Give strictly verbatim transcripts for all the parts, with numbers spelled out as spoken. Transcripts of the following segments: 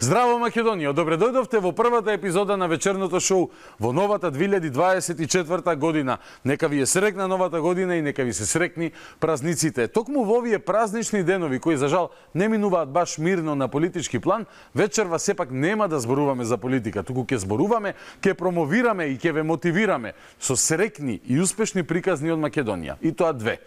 Здраво Македонија, добре дојдовте во првата епизода на вечерното шоу во новата две илјади дваесет и четврта година. Нека ви е срекна новата година и нека ви се срекни празниците. Токму во овие празнични денови кои за жал не минуваат баш мирно на политички план, вечерва сепак нема да зборуваме за политика, туку ќе зборуваме, ќе промовираме и ќе ве мотивираме со срекни и успешни приказни од Македонија. И тоа две.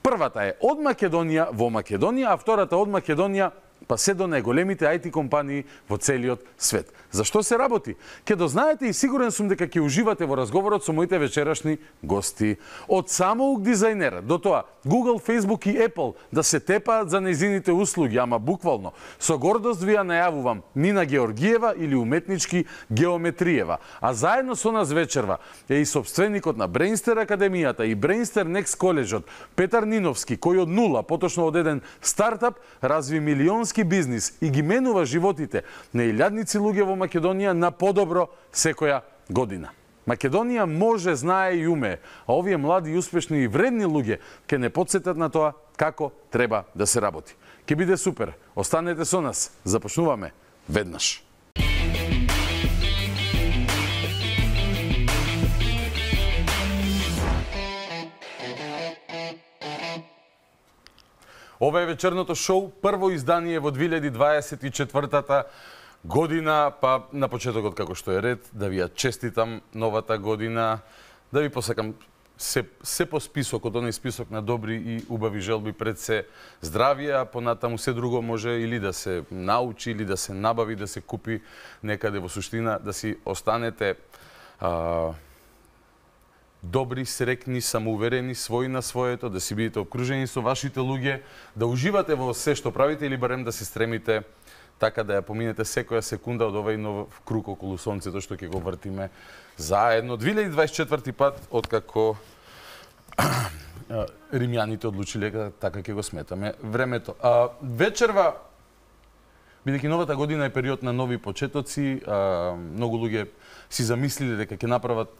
Првата е од Македонија во Македонија, а втората од Македонија па се до најголемите ај ти компании во целиот свет. Зашто се работи? Ке дознаете и сигурен сум дека ќе уживате во разговорот со моите вечерашни гости. Од самоук дизајнер до тоа Google, Facebook и Apple да се тепаат за нејзините услуги, ама буквално. Со гордост ви ја најавувам Нина Георгиева или уметнички Геометриева. А заедно со нас вечерва е и собственикот на Brainster Академијата и Brainster Next коледжот Петар Ниновски, кој од нула, поточно од еден стартап, разви милионски бизнис и ги менува животите на илјадници луѓе во Македонија на подобро секоја година. Македонија може, знае и умее, а овие млади и успешни и вредни луѓе ќе не подсетат на тоа како треба да се работи. Ќе биде супер. Останете со нас. Започнуваме веднаш. Ова е вечерното шоу, прво издание во две илјади дваесет и четвртата година, па на почетокот како што е ред, да ви ја честитам новата година, да ви посакам се, се по списокот, оној список на добри и убави желби, пред се здравие, а понатаму се друго може или да се научи, или да се набави, да се купи некаде во суштина, да си останете а, добри, срекни, самоуверени, своји на своето, да си бидете окружени со вашите луѓе, да уживате во се што правите или барем да се стремите така да ја поминете секоја секунда од овој нов круг околу сонцето што ќе го вртиме заедно. две илјади дваесет и четврти пат откако римјаните одлучиле така ќе го сметаме времето. А, вечерва, бидејќи новата година е период на нови почетоци, а, многу луѓе си замислиле дека ќе направат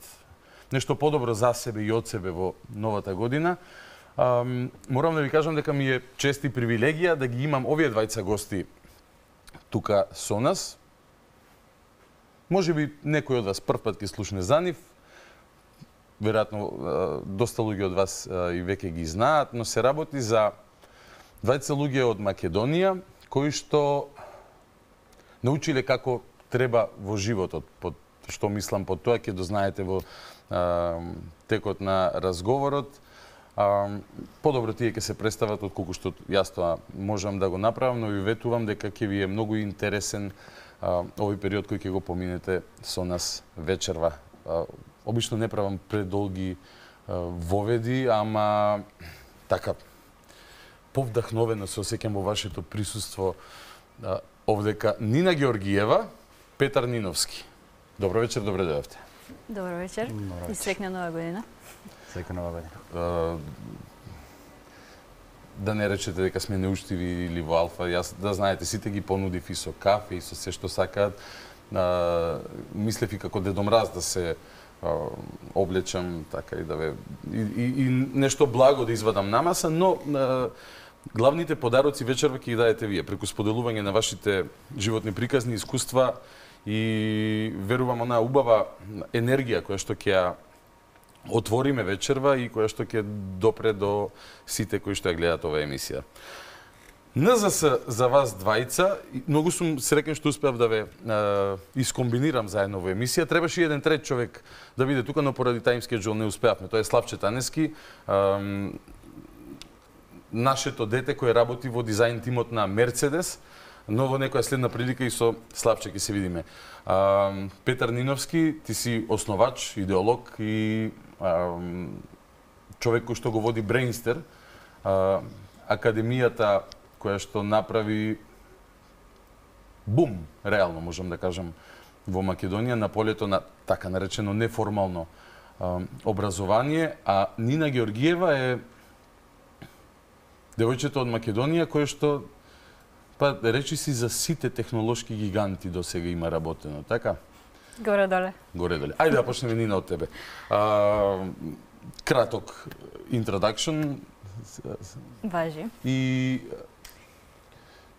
нешто подобро за себе и од себе во новата година. А, морам да ви кажам дека ми е чест и привилегија да ги имам овие двајца гости тука со нас. Може би некој од вас прв пат ќе слушне за нив. Веројатно доста луѓе од вас и веќе ги знаат, но се работи за двајца луѓе од Македонија кои што научиле како треба во животот. Под што мислам под тоа ќе дознаете во а, текот на разговорот. А, подобро тие ќе се представат отколку што јас тоа можам да го направам, но ви ветувам дека ќе ви е многу интересен а, овој период кој ќе го поминете со нас вечерва. А, обично не правам предолги а, воведи, ама така повдахновено се осеќам во вашето присуство а, овдека Нина Георгиева, Петар Ниновски. Добро вечер, добре дојдовте. Добро вечер. И срекна нова година. Срекна нова година. Uh, да не речете дека сме неуштиви или во Алфа, јас да знаете, сите ги понудив и со кафе и со се што сакаат. Uh, мислев и како Дедо Мраз да се uh, облечам така и да ве и, и, и нешто благо да извадам на маса, но uh, главните подароци вечерва ќе ги дадете вие преку споделување на вашите животни приказни, искуства и верувам онаа убава енергија која што ќе ја отвориме вечерва и која што ќе допре до сите кои што ја гледаат оваа емисија. Н З С за вас двајца, многу сум среќен што успеав да ве е, искомбинирам заедно во емисија. Требаше и еден трет човек да биде тука, но поради time schedule не успеавме. Тоа е Славче Танески, е, нашето дете кој работи во дизајн тимот на Мерцедес, но во некоја следна прилика и со Славче ќе се видиме. А, Петар Ниновски, ти си основач, идеолог и а, човек кој што го води Brainster, а, академијата која што направи бум, реално можам да кажам, во Македонија на полето на така наречено неформално а, образование, а Нина Георгиева е девојчето од Македонија кој што па речи си за сите технолошки гиганти до сега има работено, така? Горе-доле. Горе-доле. Ајде да почнеме, Нина, од тебе. А, краток introduction. Важи. И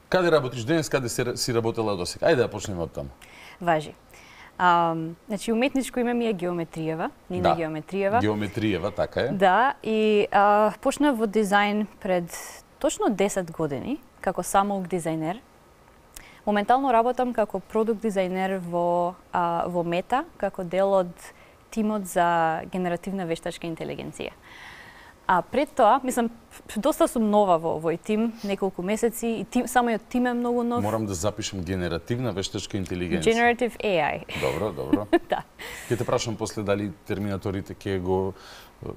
каде работиш денес, каде си, си работела до сега? Ајде да почнеме од таму. Важи. А, значи, уметничко име ми е Геометриева, Нина Да. Геометриева. Геометриева, така е. Да, и а, почнав во дизајн пред точно десет години, како самоук дизајнер. Моментално работам како продукт дизајнер во, а, во Мета, како дел од тимот за генеративна вештачка интелигенција. А пред тоа, мислам, доста сум нова во овој тим, неколку месеци, и тим, самиот тим е многу нов. Морам да запишам генеративна вештачка интелигенција. Generative A I. Добро, добро. Да. Ќе те прашам после дали терминаторите ќе го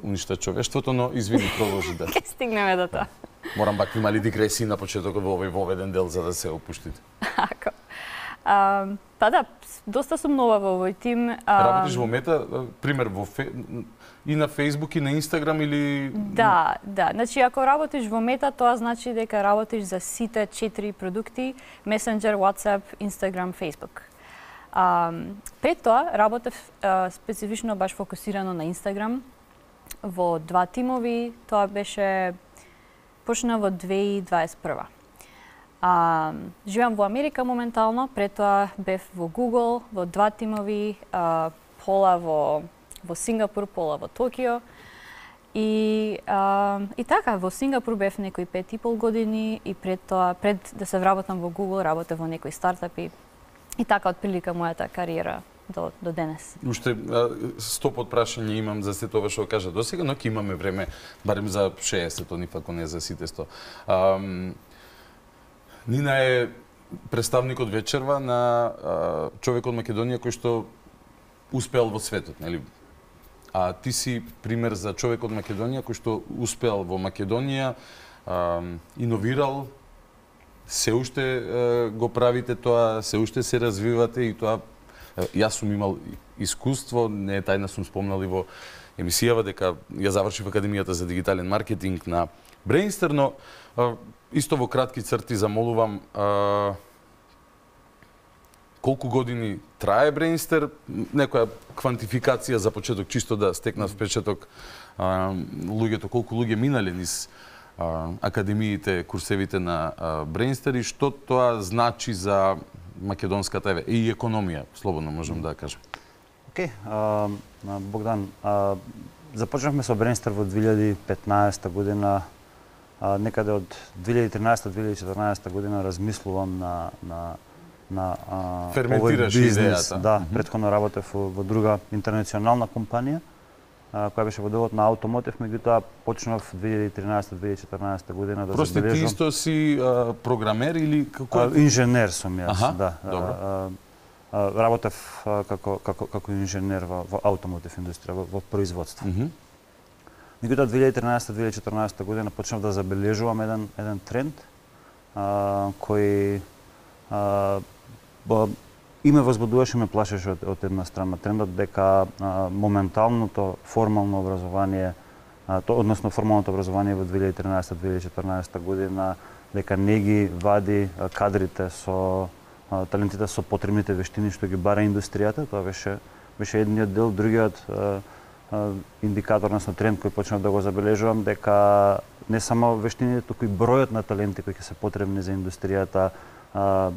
уништат човештвото, но извини, продолжи да. Ке стигнеме до тоа. Морам бак мали дигресии на почетокот во овој воведен дел за да се опуштите. Ако. А, па да, доста сум нова во овој тим. А, Работиш во Мета, пример во фе... и на Facebook и на Instagram или Да, да. Значи, ако работиш во Мета, тоа значи дека работиш за сите четири продукти: Messenger, WhatsApp, Instagram, Facebook. А, пред тоа работев а, специфично баш фокусирано на Instagram во два тимови. Тоа беше почна во две илјади дваесет и прва. А, живеам во Америка моментално, пред тоа бев во Google, во два тимови, а, пола во, во Сингапур, пола во Токио. И, а, и така, во Сингапур бев некои пет и пол години и пред тоа, пред да се вработам во Google, работев во некои стартапи. И така отприлика мојата кариера до, до денес. Уште сто под прашање имам за сето ова што кажа до сега, но ќе имаме време барем за шеесет, ниф ако не за сите сто. Um, Нина е представникот вечерва на а, човек од Македонија кој што успеал во светот, нели? А ти си пример за човек од Македонија кој што успеал во Македонија, а, иновирал, се уште а, го правите тоа, се уште се развивате и тоа. Јас сум имал искуство, не е тајна, сум спомнал и во емисијава дека ја завршив Академијата за дигитален маркетинг на Brainster, но а, исто во кратки црти замолувам, а, колку години трае Brainster, некоја квантификација за почеток, чисто да стекнат впечаток а, луѓето, колку луѓе минале низ а, академиите, курсевите на а, Brainster и што тоа значи за македонската еве и економија, слободно можам да кажам. Океј, okay, Богдан, а, започнавме со Brainster во две илјади и петнаесета година. А, некаде од две илјади и тринадесета до две илјади и четрнаесета година размислувам на на на а, ферментираш овој бизнес. идејата. Да, претходно работев во, во друга интернационална компанија, а, која беше во делот на автомотив, меѓутоа почнав две илјади и тринадесета до две илјади и четрнаесета година да Прости, ти забележам. исто си а, програмер или како? А, инженер сум јас, Аха, да. добро. А, а, работев а, како како како инженер во, во автомотив индустрија, во, во производство. Mm -hmm. Меѓутоа две илјади и тринадесета до две илјади и четрнаесета година почнав да забележувам еден еден тренд а, кој а, бо, и ме возбудуваше и ме плашеше од, од една страна. Трендот дека а, моменталното формално образование, а, то, односно формалното образование во две илјади и тринадесета до две илјади и четрнаесета година, дека не ги вади а, кадрите со а, талентите со потребните вештини што ги бара индустријата. Тоа беше беше едниот дел, другиот а, а, индикатор, односно тренд кој почнав да го забележувам, дека не само вештините, туку и бројот на таленти кои ќе се потребни за индустријата а,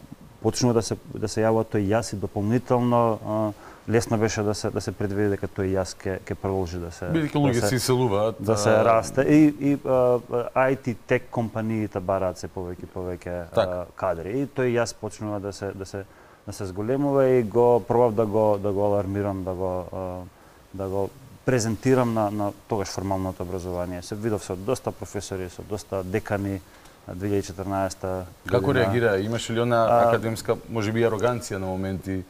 почнува да се да се јавува тој јас и дополнително а, лесно беше да се да се предвиди дека тој јас ќе ќе продолжи да се Бидејќи луѓе да се иселуваат, да се расте и и а, ај ти тек компаниите бараат се повеќе и повеќе а, кадри и тој јас почнува да се да се да се зголемува и го пробав да го да го алармирам, да го а, да го презентирам на на тогаш формалното образование. Се видов со доста професори, со доста декани две илјади и четрнаесета Како година. реагира? Имаше ли она А, академска, можеби ароганција на моменти?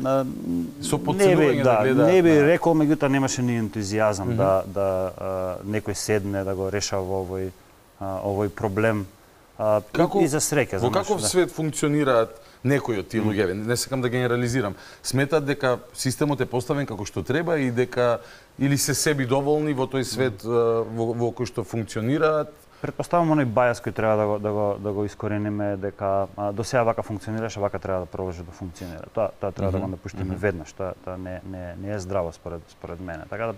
А, Со не подценување би, да да, гледа. не би да. рекол, меѓутоа немаше ни ентузијазам да да а, некој седне да го решава овој а, овој проблем. А, Како- и, и за среќа, за Во каков да. свет функционираат некои од тие луѓе? Не сакам да генерализирам. Сметат дека системот е поставен како што треба и дека или се себи доволни во тој свет а, во, во кој што функционираат? Претпоставам оној бајас кој треба да го да го да го искорениме, дека а, до сега вака функционираше, вака треба да продолжи да функционира. Тоа тоа треба да го напуштиме веднаш. Тоа тоа не не не е здраво според според мене. Така да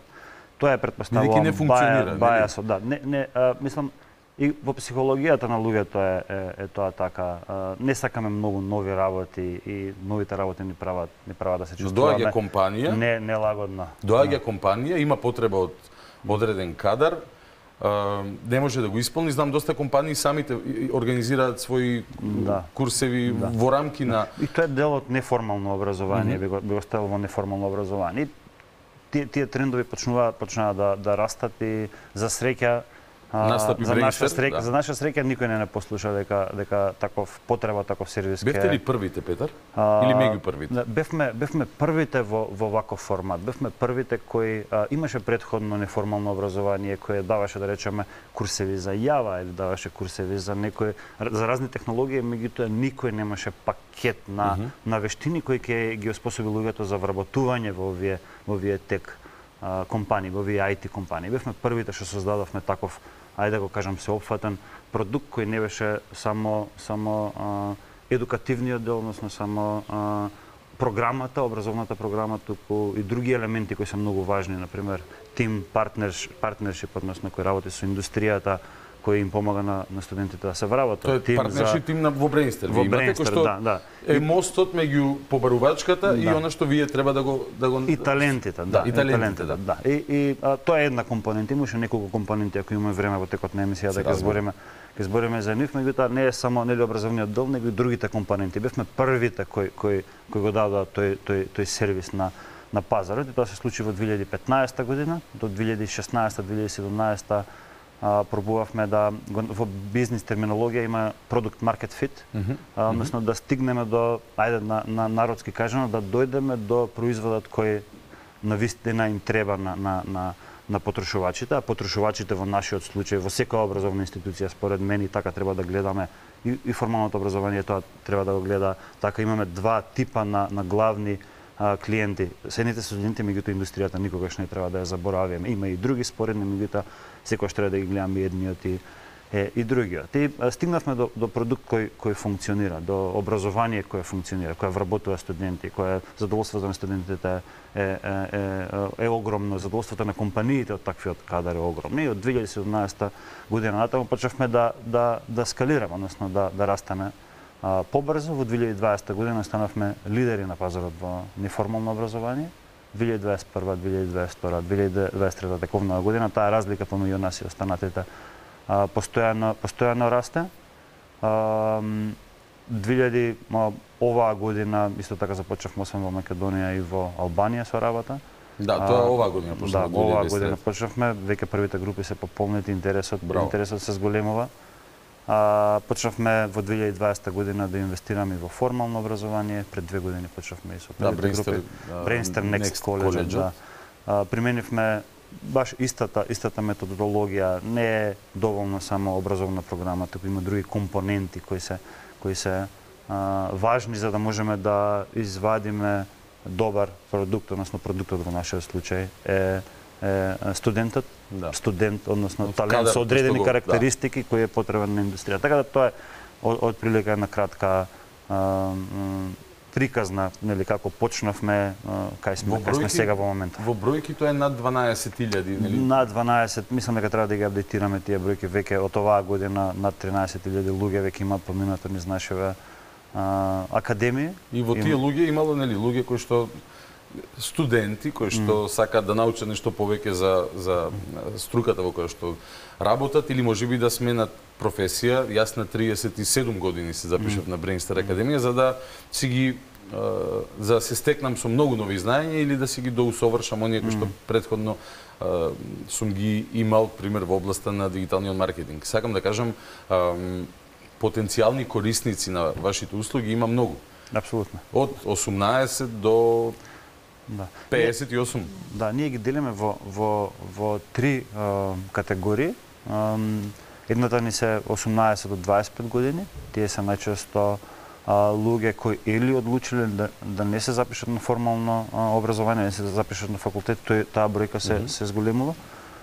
тоа е претпоставувам Бидејќи не функционира, нели? бајасот, да. Не не а, мислам и во психологијата на луѓето е, е, е тоа така. А, не сакаме многу нови работи и новите работи ни прават ни прават да се Но чувствуваме доаѓа компанија, не нелагодно. доаѓа компанија, има потреба од одреден кадар, а, не може да го исполни. Знам доста компании самите и- и организираат своји Да. курсеви во рамки на И тоа е дел од неформално образование, би го би го ставил во неформално образование. И тие тие трендови почнуваат почнуваат да да растат и за среќа а, Настапи за наша Brainster, среќа, да. за наша среќа никој не не послуша дека дека таков потреба таков сервис Бевте ли првите, Петар? Или меѓу првите? Да, бевме бевме првите во во ваков формат. Бевме првите кои а, имаше претходно неформално образование кое даваше да речеме курсеви за Java или даваше курсеви за некои за разни технологии, меѓутоа никој немаше пакет на Мгм. на вештини кои ќе ги оспособи луѓето за вработување во овие во овие тек а, компании, во овие ай ти компании. Бевме првите што создадовме таков, ајде да го кажам, сеопфатен продукт кој не беше само само а, едукативниот дел, односно само а, програмата, образовната програма, туку и други елементи кои се многу важни, на пример тим партнерш, партнершип, односно кој работи со индустријата, кој им помага на, на студентите да се вработат. Тоа е партнершип тим на во Brainster. Во Ви имате кој Brainster, што да, да. е мостот меѓу побарувачката и Да. она што вие треба да го да го И талентите, да. и талентите, да. да. И, и а, тоа е една компонента, имаше неколку компоненти, ако имаме време во текот на емисија Се да ќе разбира. збориме, ќе збориме за нив, меѓутоа не е само нели образовниот дел, него и другите компоненти. Бевме првите кои кои кои го дадоа тој тој тој сервис на на пазарот и тоа се случи во две илјади и петнаесета година, до две илјади и шеснаесета две илјади и седумнаесета а, пробувавме да го- во бизнис терминологија има product market fit, Мгм. а, односно да стигнеме до, ајде на, на народски кажано, да дојдеме до производот кој навистина им треба на, на, на, на потрошувачите, а потрошувачите во нашиот случај, во секоја образовна институција, според мен и така треба да гледаме, и, и формалното образование тоа треба да го гледа, така имаме два типа на, на главни а, клиенти. Седните студенти, меѓутоа индустријата никогаш не треба да ја забораваме. Има и други споредни, меѓутоа секогаш треба да ги гледаме и едниот и е, и другиот. И а, стигнавме до, до продукт кој кој функционира, до образование кое функционира, кое вработува студенти, кое задоволството на студентите е, е, е, е огромно, задоволството на компаниите од таквиот кадар е огромно. И од две илјади и седумнаесета година натаму почнавме да да да скалираме, односно да да растеме а, побрзо. Во две илјади и дваесета година станавме лидери на пазарот во неформално образование. две илјади дваесет и прва, две илјади дваесет и втора, две илјади дваесет и трета тековна година, таа разлика помеѓу нас и останатите а, постојано постојано расте. А, две илјади ма, оваа година исто така започнавме освен во Македонија и во Албанија со работа. Да, тоа оваа година почна Да, да дојде оваа веќе. година почнавме, веќе првите групи се пополнети, интересот, Браво. интересот се зголемува. А, почнавме во две илјади и дваесета година да инвестираме во формално образование, пред две години почнавме и со Да, првите Brainster, групи. да, Brainster Next, Next College, College, да. А, применивме баш истата истата методологија, не е доволно само образовна програма, туку има други компоненти кои се кои се а, важни за да можеме да извадиме добар продукт, односно продуктот во нашиот случај е е студентот, Да. студент, односно В талент кадар, со одредени што го- карактеристики кои е потребен на индустријата. Така да тоа е од, од прилика една кратка а, м, приказна, нели како почнавме, а, кај сме, Во кај сме бројки- сега во моментот. Во бројки тоа е над дванаесет илјади, нели? На дванаесет, мислам дека треба да ги апдейтираме тие бројки веќе од оваа година над тринаесет илјади луѓе веќе имаат поминато низ нашава а, академија. И во Им- тие луѓе имало нели луѓе кои што студенти кои што сакаат да научат нешто повеќе за за струката во која што работат или можеби да сменат професија. Јас на триесет и седум години се запишав на Brainster Академија за да си ги е, за да се стекнам со многу нови знаења или да си ги доусовршам оние кои што претходно е, сум ги имал пример во областа на дигиталниот маркетинг. Сакам да кажам, е, потенцијални корисници на вашите услуги има многу. Апсолутно. Од осумнаесет до Да. пеесет и осум. Да, ние ги делиме во во во три а, категории. А, едната ни се осумнаесет до дваесет и пет години. Тие се најчесто а, луѓе кои или одлучиле да, да не се запишат на формално а, образование, не се запишат на факултет, тој таа бројка се mm -hmm. се зголемува.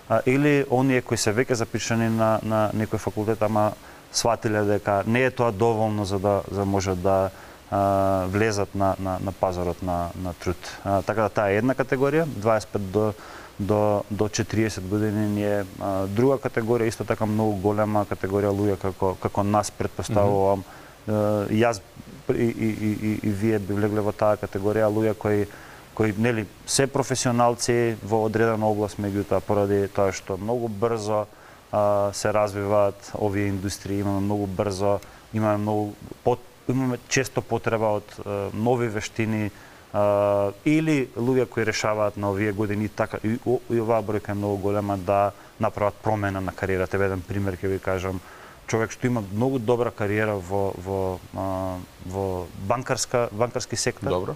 А, или оние кои се веќе запишани на на некој факултет, ама сватиле дека не е тоа доволно за да за може да а, влезат на на на пазарот на на труд. А, така да таа е една категорија, дваесет и пет до до до четириесет години ни е а, друга категорија, исто така многу голема категорија луѓе како како нас претпоставувам. Mm -hmm. Јас и, и, и, и, и вие би влегле во таа категорија луѓе кои кои нели се професионалци во одредена област, меѓутоа поради тоа што многу брзо а, се развиваат овие индустрии, имаме многу брзо, имаме многу под, имаме често потреба од а, нови вештини а, или луѓе кои решаваат на овие години така и, и оваа бројка е многу голема да направат промена на кариерата. Еден пример ќе ви кажам, човек што има многу добра кариера во во а, во банкарска банкарски сектор. Добро.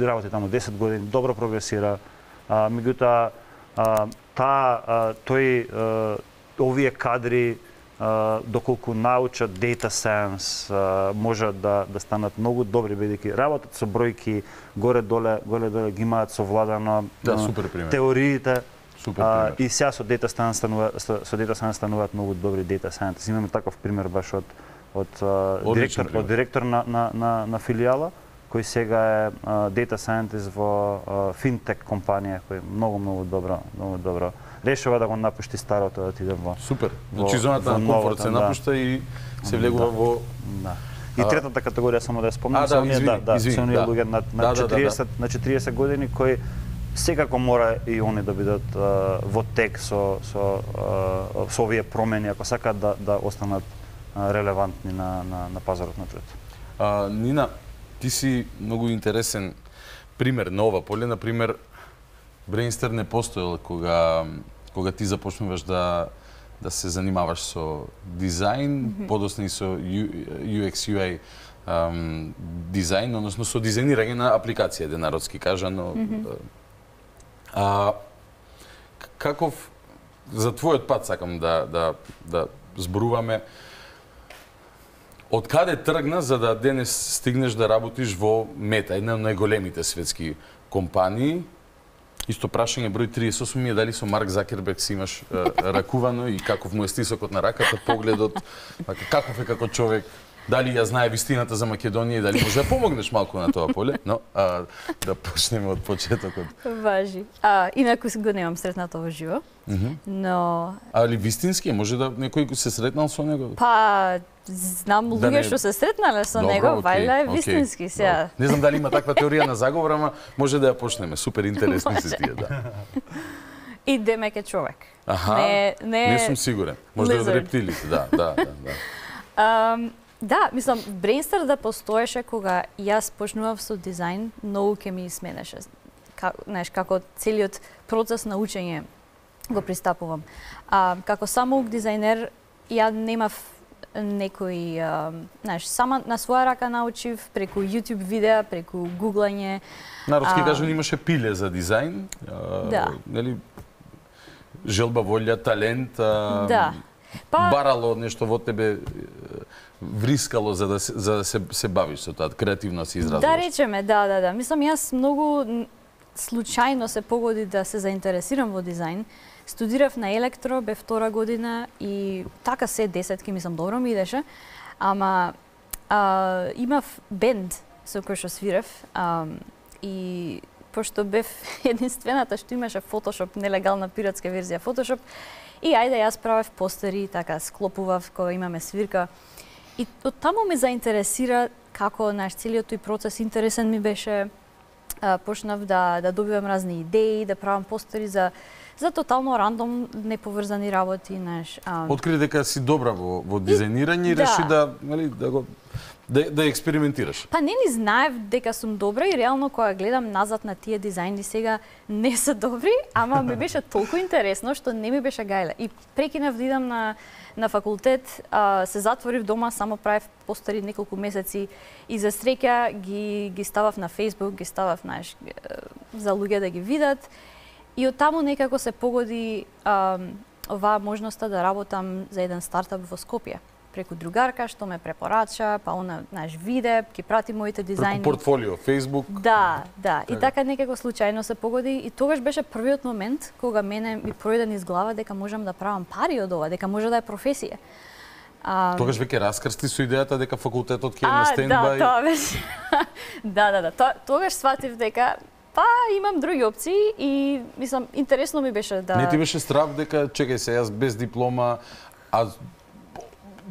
Работи таму десет години, добро прогресира. А, меѓутоа таа тој а, овие кадри а, доколку научат data science а, можат да да станат многу добри бидејќи работат со бројки, горе-доле, горе-доле ги имаат совладано да, супер пример. Теориите. Супер а, и сега со data science станува со, со data science стануваат многу добри data scientists. Имаме таков пример баш од од а, директор пример. од директор на на на, на филијала кој сега е uh, data scientist во uh, финтек компанија кој многу многу добро, многу добро решава да го напушти старото да отиде во. Супер. Во, Значи зоната на комфорт се напушта да. И се влегува да. Во да. И а, третата категорија само да ја спомнам, да, оние да, да, се оние да. луѓе на на да, четириесет да, да. на четириесет години кои секако мора и они да бидат uh, во тек со со uh, со овие промени ако сакаат да да останат uh, релевантни на на на пазарот на труд. А, Нина, ти си многу интересен пример на ова поле. Например, Brainster не постоел кога кога ти започнуваш да да се занимаваш со дизајн, mm -hmm. подоцна и со ю екс ю ей um, дизајн, односно со дизајнирање на апликација, денародски кажано. Mm -hmm. А каков за твојот пат сакам да да да зборуваме. Од каде тргна за да денес стигнеш да работиш во Мета, една од најголемите светски компании? Исто прашање број триесет и осум ми е дали со Марк Закерберг си имаш е, ракувано и каков му е стисокот на раката, погледот, каков е како човек, дали ја знае вистината за Македонија и дали може да помогнеш малку на тоа поле, но а, да почнеме од почетокот. Важи. А, инаку го немам сретнато во живо, Mm -hmm. но... Али вистински, може да некој се сретнал со него? Па, знам луѓе Да не- што се сретнале со Добро, него, окей, вајда е окей, вистински сега. добро. Не знам дали има таква теорија на заговор, ама може да ја почнеме. Супер интересни се тие, да. И демек е човек. Аха, Не, не, не сум сигурен. Може да е од lizard. рептилите, да, да, да, да. Ам, да, мислам, Brainster да постоеше кога јас почнував со дизајн, многу ке ми сменеше. Ка, знаеш, како целиот процес на учење го пристапувам. А, како самоук дизајнер, ја немав некој, а, знаеш, сама на своја рака научив, преку YouTube видеа, преку гуглање. Народски А, кажано имаше пиле за дизајн. А, Да. Нели, желба, волја, талент. А, Да. Па, барало нешто во тебе, е, врискало за да се, за да се, се бавиш со тоа, креативно се изразуваш. да речеме, да, да, да. Мислам, јас многу н- случајно се погоди да се заинтересирам во дизајн. Студирав на електро, бе втора година и така се десетки, мислам, добро ми идеше. Ама а, имав бенд со кој што свирев а, и пошто бев единствената што имаше Photoshop, нелегална пиратска верзија Photoshop, и ајде јас правев постери, така склопував кога имаме свирка. И од таму ме заинтересира како наш целиот тој процес интересен ми беше. А, почнав да да добивам разни идеи, да правам постери за за тотално рандом неповрзани работи, знаеш. А, Откри дека си добра во, во дизајнирање и да. реши да, нели, да го да да експериментираш. Па не ни знаев дека сум добра и реално кога гледам назад на тие дизајни сега не се добри, ама ми беше толку интересно што не ми беше гајле. И прекинав да идам на на факултет, а, се затворив дома, само правев постери неколку месеци и за среќа ги ги ставав на Facebook, ги ставав знаеш за луѓе да ги видат. И од таму некако се погоди а, оваа можноста да работам за еден стартап во Скопје преку другарка што ме препорача, па она знаеш виде, ги прати моите дизајни. Преку портфолио, Facebook. Да, да. И така некако случајно се погоди и тогаш беше првиот момент кога мене ми пројде низ глава дека можам да правам пари од ова, дека може да е професија. А, Тогаш веќе раскрсти со идејата дека факултетот ќе е а, на стендбај. Да, тоа беше. да, да, да. То, тогаш сватив дека па имам други опции и мислам интересно ми беше да Не ти беше страв дека чекај се јас без диплома, а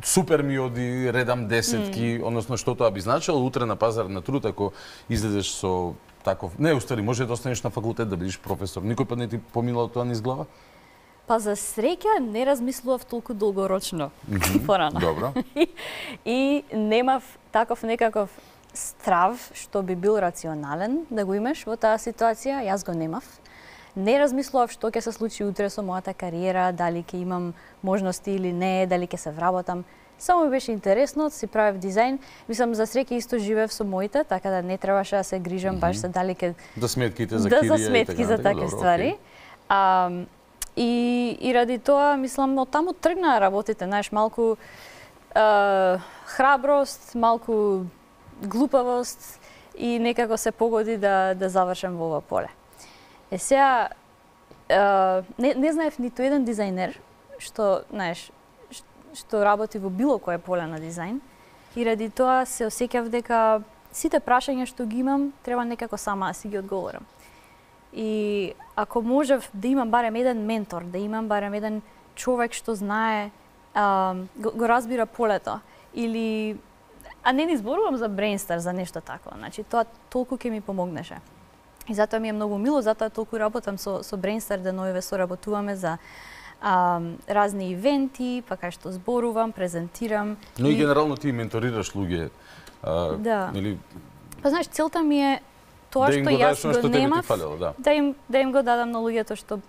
супер ми оди, редам десетки, mm. односно што тоа би значило утре на пазар на труд ако излезеш со таков. Не, устари, може да останеш на факултет да бидеш професор. Никој пат не ти поминало тоа низ глава? Па за среќа не размислував толку долгорочно Mm -hmm. порано. Добро. и, и немав таков некаков страв што би бил рационален да го имаш во таа ситуација, јас го немав. Не размислував што ќе се случи утре со мојата кариера, дали ќе имам можности или не, дали ќе се вработам. Само ми беше интересно, си правев дизајн. Мислам, за среќа исто живеев со моите, така да не требаше да се грижам mm -hmm. баш за дали ќе... Да сметките за да, кирија за сметки и така, за такви добро, ствари. Okay. А, и, и ради тоа, мислам, од таму тргнаа работите, знаеш, малку а, храброст, малку глупавост и некако се погоди да, да завршам во ова поле. Е сега, а, не, не знаев ниту еден дизајнер што, знаеш, што работи во било кое поле на дизајн и ради тоа се осеќав дека сите прашања што ги имам треба некако сама да си ги одговорам. И ако можев да имам барем еден ментор, да имам барем еден човек што знае, а, го, го разбира полето или а не ни зборувам за Brainstar, за нешто такво. Значи тоа толку ќе ми помогнеше. И затоа ми е многу мило, затоа толку работам со со Brainstar, деновиве соработуваме за а, разни ивенти, па кај што зборувам, презентирам. Но и, и генерално ти менторираш луѓе. А, да. Или... Па знаеш, целта ми е тоа да што јас го немав, фалело, да. да им да им го дадам на луѓето што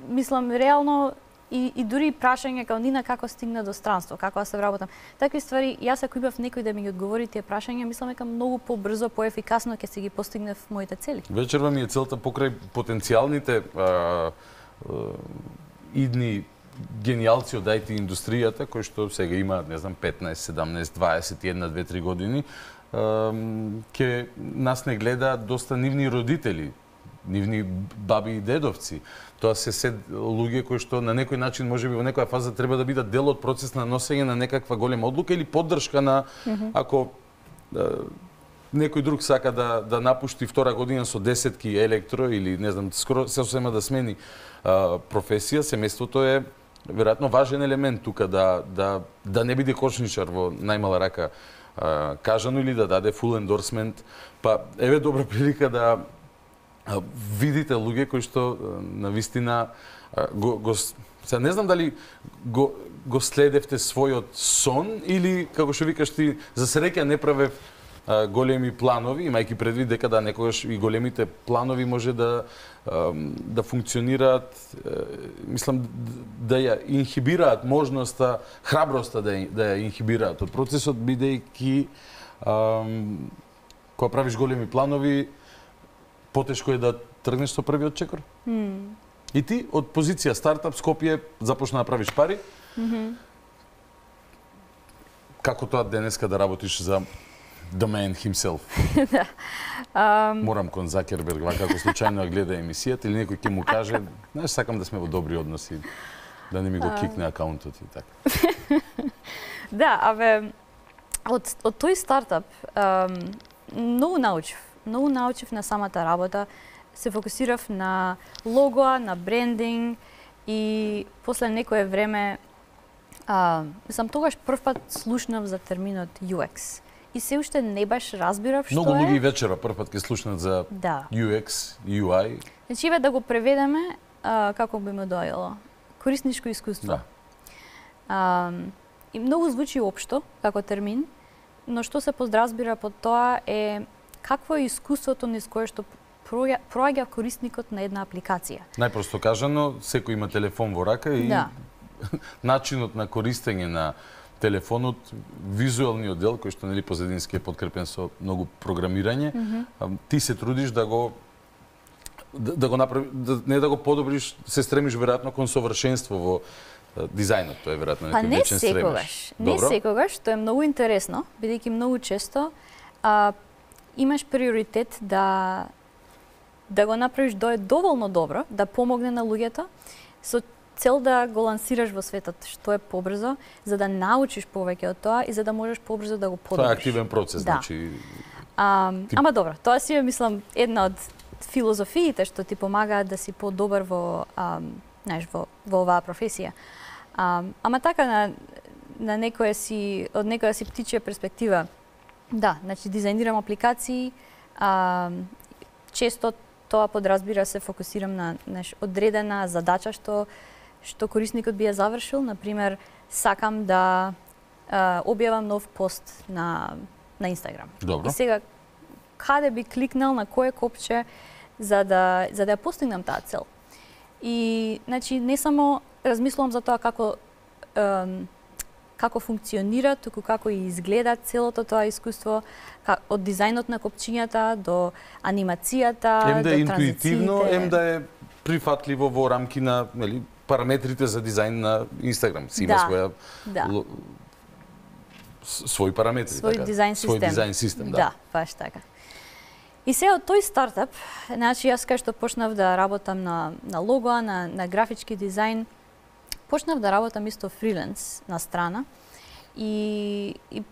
мислам реално и, и дури прашања како Нина како стигна до странство, како да се вработам. Такви ствари, јас ако имав некој да ми ги одговори тие прашања, мислам дека многу побрзо, поефикасно ќе си ги постигнев моите цели. Вечерва ми е целта покрај потенцијалните а, а, идни генијалци од ай ти индустријата, кои што сега има, не знам, петнаесет, седамнаесет, дваесет и една, две, три години, ќе нас не гледа доста нивни родители, нивни баби и дедовци. Тоа се се луѓе кои што на некој начин можеби во некоја фаза треба да бидат дел од процес на носење на некаква голема одлука или поддршка на mm -hmm. ако да, некој друг сака да да напушти втора година со десетки електро или не знам скоро се осема да смени а, професија, семејството е веројатно важен елемент тука да да да не биде кошничар во најмала рака а, кажано или да даде фул ендорсмент. Па еве добра прилика да видите луѓе кои што на вистина го, го се не знам дали го го следевте својот сон или како што викаш ти за среќа не правев а, големи планови, имајќи предвид дека да некогаш и големите планови може да а, да функционираат, а, мислам да ја инхибираат можноста, храброста да ја, да ја инхибираат од процесот бидејќи кога правиш големи планови потешко е да тргнеш со првиот чекор. Mm. И ти од позиција стартап Скопје започна да правиш пари. Mm -hmm. Како тоа денеска да работиш за the man himself? um... Морам кон Закерберг, вака како случајно ја гледа емисијата или некој ќе му каже, знаеш, сакам да сме во добри односи, да не ми го кикне акаунтот и така. Да, абе од од тој стартап um, многу научив. Многу научив на самата работа, се фокусирав на лого, на брендинг и после некое време, а, мислам, тогаш прв пат слушнав за терминот ю екс. И се уште не баш разбирав што Многу е. многу луѓе вечера прв пат ќе слушнат за да. ю екс, ю ај. Значи, да го преведеме, а, како би ме дојело. Корисничко искуство. Да. А, и многу звучи општо, како термин, но што се подразбира под тоа е какво е искуството низ кое што проаѓа, проаѓа корисникот на една апликација. Најпросто кажано, секој има телефон во рака и Да. начинот на користење на телефонот, визуелниот дел кој што нели позадински е подкрепен со многу програмирање, mm -hmm. ти се трудиш да го да, да го направи, да, не да го подобриш, се стремиш веројатно кон совршенство во дизајнот, тоа е веројатно Па некој не вечен стремеж. секогаш, не Добро? секогаш, што е многу интересно, бидејќи многу често а, имаш приоритет да да го направиш да е доволно добро, да помогне на луѓето, со цел да го лансираш во светот што е побрзо, за да научиш повеќе од тоа и за да можеш побрзо да го подобриш. Тоа е активен процес, Да. значи А, Ти- ама добро, тоа си е, мислам, една од филозофиите што ти помагаат да си подобар во, а, знаеш, во, во оваа професија. А, ама така на на некоја си од некоја си птичја перспектива. Да, значи дизајнирам апликации, а, често тоа подразбира се фокусирам на знаеш, одредена задача што што корисникот би ја завршил, на пример, сакам да а, објавам нов пост на на Инстаграм. Добро. И сега каде би кликнал на кое копче за да за да ја постигнам таа цел. И значи не само размислувам за тоа како ем, како функционира, туку како и изгледа целото тоа искуство, ка, од дизајнот на копчињата до анимацијата, ем да е до интуитивно, транзициите. ем да е прифатливо во рамки на, нели, параметрите за дизајн на Инстаграм. Си има Да, своја да. ло- с- своји параметри, Свој така. дизајн систем. Свој дизајн систем, да. Да, баш така. И сега од тој стартап, значи јас кај што почнав да работам на на лого, на на графички дизајн, почнав да работам исто фриленс на страна и и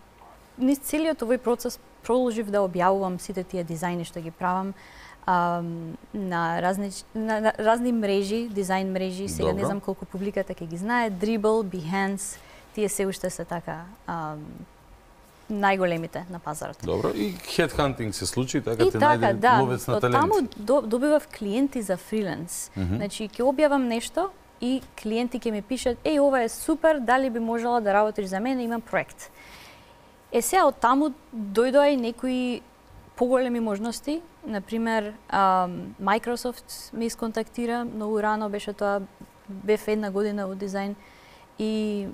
низ целиот овој процес продолжив да објавувам сите тие дизајни што ги правам а, на разни на, на разни мрежи, дизајн мрежи, сега Добро. не знам колку публиката ќе ги знае, Dribble, Behance, тие се уште се така а, најголемите на пазарот. Добро, и headhunting се случи, така И те така, најде да, ловец на од талент. таму до, добивав клиенти за фриленс. Mm -hmm. Значи, ќе објавам нешто и клиенти ќе ми пишат, еј, ова е супер, дали би можела да работиш за мене, имам проект. Е, сега од таму дојдоа и некои поголеми можности. Например, um, Microsoft ме исконтактира, многу рано беше тоа, бев една година во дизајн и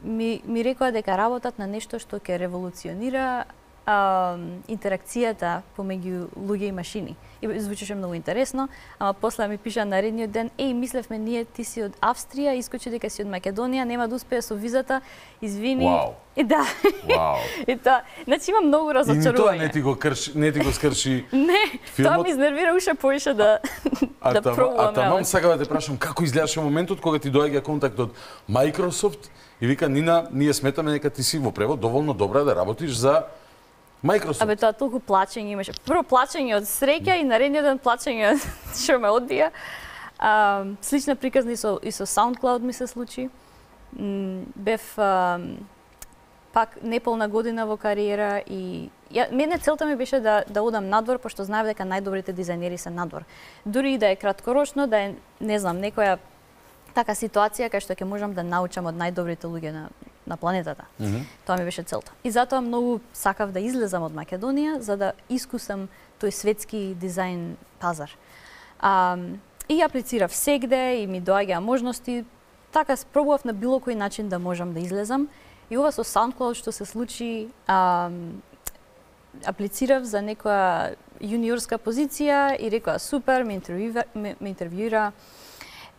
ми, ми рекоа дека работат на нешто што ќе револуционира а, интеракцијата помеѓу луѓе и машини. И звучеше многу интересно, ама после ми пиша наредниот ден, еј, мислевме ние ти си од Австрија, искочи дека си од Македонија, нема да успее со визата, извини. Вау. И да. Вау. И тоа, значи има многу И ни тоа разочарување. не ти го крши, не ти го скрши Не, филмот? тоа ми изнервира уште повеќе да А, да тама, пробувам а тамам работа. сакам да те прашам како изгледаше моментот кога ти доаѓа контакт од Microsoft и вика Нина, ние сметаме дека ти си во превод доволно добра да работиш за Microsoft. Абе тоа толку плачење имаше. Прво плачење од среќа и наредниот ден плачење од што ме одбија. А, слична приказна и со, и со SoundCloud ми се случи. М, Бев а, пак неполна година во кариера и ја, мене целта ми беше да да одам надвор, пошто знаев дека најдобрите дизајнери се надвор. Дури и да е краткорочно, да е, не знам, некоја така ситуација кај што ќе можам да научам од најдобрите луѓе на на планетата. Mm -hmm. Тоа ми беше целта. И затоа многу сакав да излезам од Македонија за да искусам тој светски дизајн пазар. А, и аплицирав сегде и ми доаѓаа можности. Така спробував на било кој начин да можам да излезам. И ова со SoundCloud што се случи, а, аплицирав за некоја јуниорска позиција и рекоа супер, ме интервјуира, ме, ме интервјуира.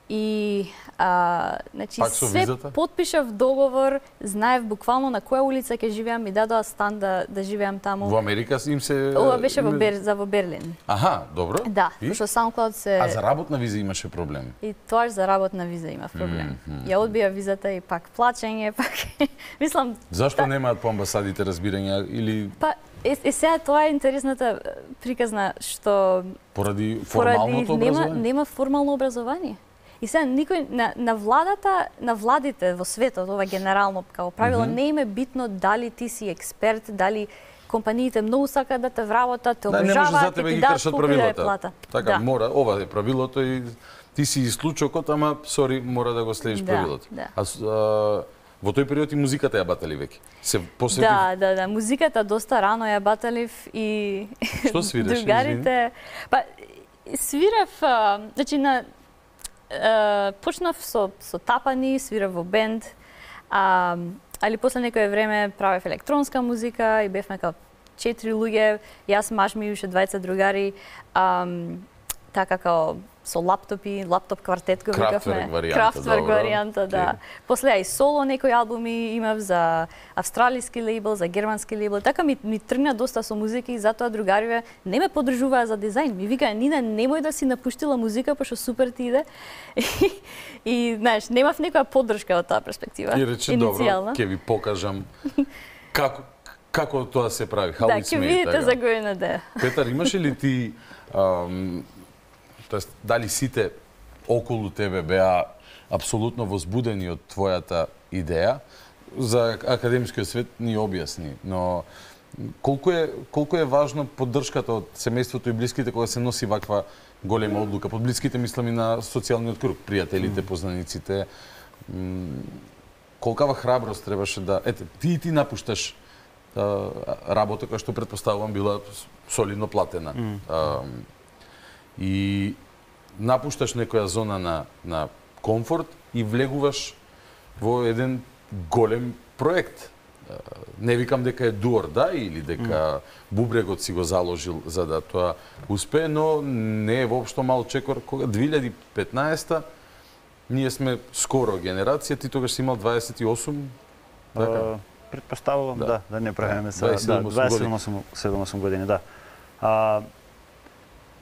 И а, значи Пак со све визата? потпишав договор, знаев буквално на која улица ќе живеам, ми дадоа стан да да живеам таму. Во Америка им се Ова беше во им- Бер, за во Берлин. Аха, добро. Да, И? пошто SoundCloud се А за работна виза имаше проблем. и тоа за работна виза имав проблем. Мгм. Ја одбија визата и пак плачење, пак мислам, Зашто немаат по амбасадите разбирања или па е, е сега тоа е интересната е, приказна што поради поради формалното нема образование? нема формално образование. И сега никој на, на владата, на владите во светот, ова генерално како правило, Мгм. не им е битно дали ти си експерт, дали компаниите многу сакаат да те вработат, те Да, не може за обожаваат, тебе ти ги дадат кршат колку и да е правилата. плата. Така, да. мора, ова е правилото и ти си исклучокот, ама сори, мора да го следиш Да, правилото. да. А, с- а во тој период и музиката ја батали веќе. Се посветив. Да, да, да, музиката доста рано ја баталив и Што свиреш? другарите. Па свирев, а, значи на а, почнав со со тапани, свирев во бенд. А, али после некое време правев електронска музика и бевме како четири луѓе, јас, маж ми и уште двајца другари. А, така како со лаптопи, лаптоп квартет го викавме. Крафтверк варијанта, Крафтверк добро. варијанта, да. Okay. После ја и соло некои албуми имав за австралиски лейбл, за германски лейбл. Така ми, ми тргна доста со музика и затоа другариве не ме поддржуваа за дизајн. Ми викаа, Нина, немој да си напуштила музика, пошто супер ти иде. И, и знаеш, немав некоја поддршка од таа перспектива. И рече, добро, ќе ви покажам како како тоа се прави, how Да, it's ќе made. видите така. за година да. Петар, имаше ли ти, ам, тоест, дали сите околу тебе беа апсолутно возбудени од твојата идеја? За академскиот свет ни објасни, но колку е колку е важно поддршката од семејството и блиските кога се носи ваква голема одлука? Под блиските мислам и на социјалниот круг, пријателите, познаниците. М, Колкава храброст требаше да... Ете, ти и ти напушташ а, работа која што претпоставувам била солидно платена. Mm. А, и напушташ некоја зона на, на комфорт и влегуваш во еден голем проект. А, не викам дека е do or die или дека mm. бубрегот си го заложил за да тоа успее, но не е воопшто мал чекор. Кога две илјади и петнаесета ние сме скоро генерација, ти тогаш си имал дваесет и осум, така? Uh, Предпоставувам, да, да, да не правиме се. дваесет и седум осум години, да. А,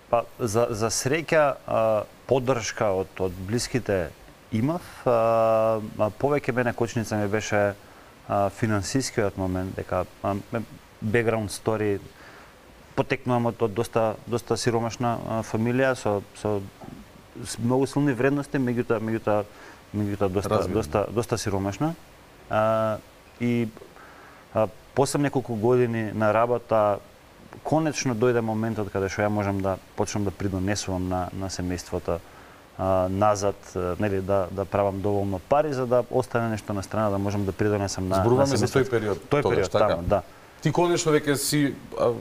па, за, за среќа, а, поддршка од, од блиските имав, а, а повеќе мене кочница ми беше а, финансискиот момент, дека а, background story, потекнувам од, од доста, доста сиромашна а, фамилија со, со многу силни вредности, меѓутоа меѓутоа меѓутоа доста Разумно. доста доста сиромашна. А, и а, после неколку години на работа конечно дојде моментот каде што ја можам да почнам да придонесувам на на семејството а, назад, а, нели да да правам доволно пари за да остане нешто на страна, да можам да придонесам на Зборуваме на за тој период. Тој тогаш, период, така? таму, да. Ти конечно веќе си а,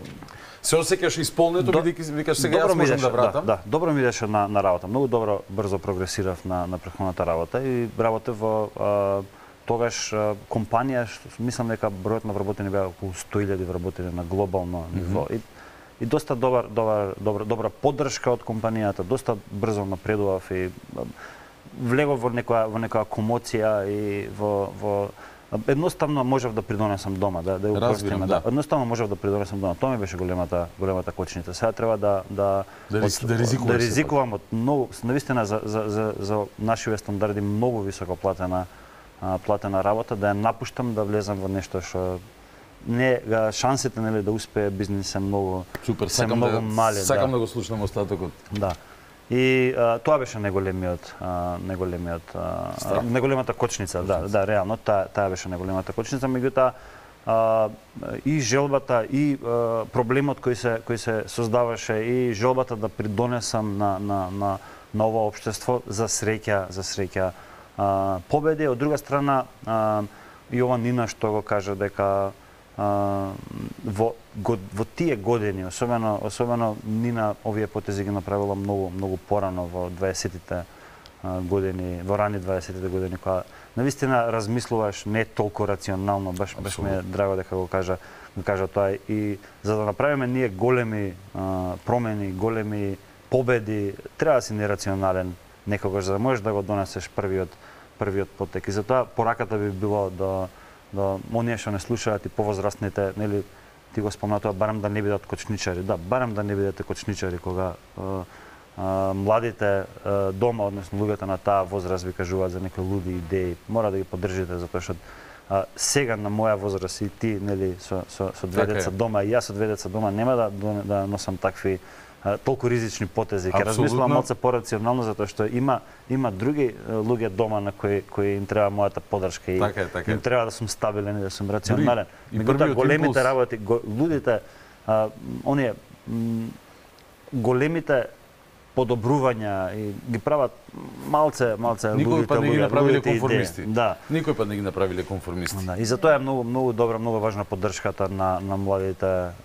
се осеќаш исполнето, До- бидејќи викаш сега Добро јас ми можам идеше, да вратам. Да, да, добро ми идеше на на работа. Многу добро брзо прогресирав на на претходната работа и работев во а, тогаш а, компанија, што мислам дека бројот на вработени беа околу сто илјади вработени на глобално ниво. И и доста добар добар добра добра поддршка од компанијата, доста брзо напредував и а, влегов во некоја во некоја комоција и во во едноставно можев да придонесам дома, да да ја Разбирам, упростиме, да. да. Едноставно можев да придонесам дома. Тоа ми беше големата големата кочница. Сега треба да да Да рис- да ризикуваш да сепак. ризикувам од многу навистина за за за за нашиве стандарди многу високо платена а, платена работа, да ја напуштам да влезам во нешто што не га- шансите нели да успее бизнис се многу Супер, се сакам многу да мали, сакам да. да го слушнам остатокот. Да. И а, тоа беше најголемиот, а, најголемиот, а, Страх. најголемата кочница, да, да, реално таа таа беше најголемата кочница, меѓутоа а, и желбата и а, проблемот кој се кој се создаваше и желбата да придонесам на на на на ова општество за среќа, за среќа а, победи. Од друга страна а, и ова Нина што го кажа дека а, во го, во тие години, особено особено Нина овие потези ги направила многу многу порано во дваесеттите а, години, во рани дваесеттите години кога навистина размислуваш не толку рационално, баш баш ми е драго дека го кажа го кажа тоа и за да направиме ние големи а, промени, големи победи, треба да си нерационален некогаш за да можеш да го донесеш првиот првиот потек. И затоа пораката би било да да оние што не слушаат и повозрастните, нели ти го спомна тоа, барем да не бидат кочничари. Да, барем да не бидете кочничари кога а, а, младите а, дома, односно луѓето на таа возраст ви кажуваат за некои луди идеи. Мора да ги поддржите затоа што а, сега на моја возраст и ти, нели, со со со две Така е. деца дома и јас со две деца дома нема да да, да носам такви а, толку ризични потези. Ќе размислувам малку порационално затоа што има има други а, луѓе дома на кои кои им треба мојата поддршка и Така е, така е. им треба да сум стабилен и да сум рационален. и Меѓутоа првиот големите импулс- работи, го, лудите, а, оние м, големите подобрувања и ги прават малце малце Никој па не ги направиле конформисти. Да. Никој па не ги направиле конформисти. Да, и затоа е многу многу добра, многу важна поддршката на на младите,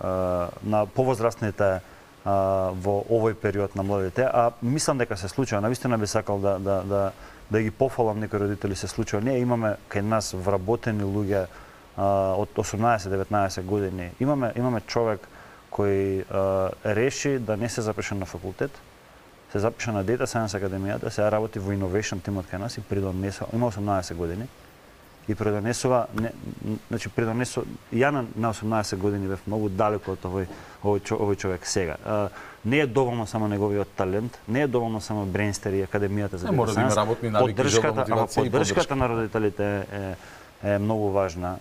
на повозрастните во овој период на младите, а мислам дека се случува. Навистина би сакал да да да да ги пофалам некои родители се случува. Ние имаме кај нас вработени луѓе од осумнаесет-деветнаесет години. Имаме имаме човек кој а, реши да не се запише на факултет, се запиша на Data Science академијата, се работи во Innovation тимот кај нас и придонесува, има осумнаесет години, и придонесува, не, значи придонесува, ја на, на осумнаесет години бев многу далеко од овој, овој, овој човек сега. А, не е доволно само неговиот талент, не е доволно само Brainster и академијата за Data Science. Мора да има работни навики, желба, мотивација и поддршката на родителите е е многу важна.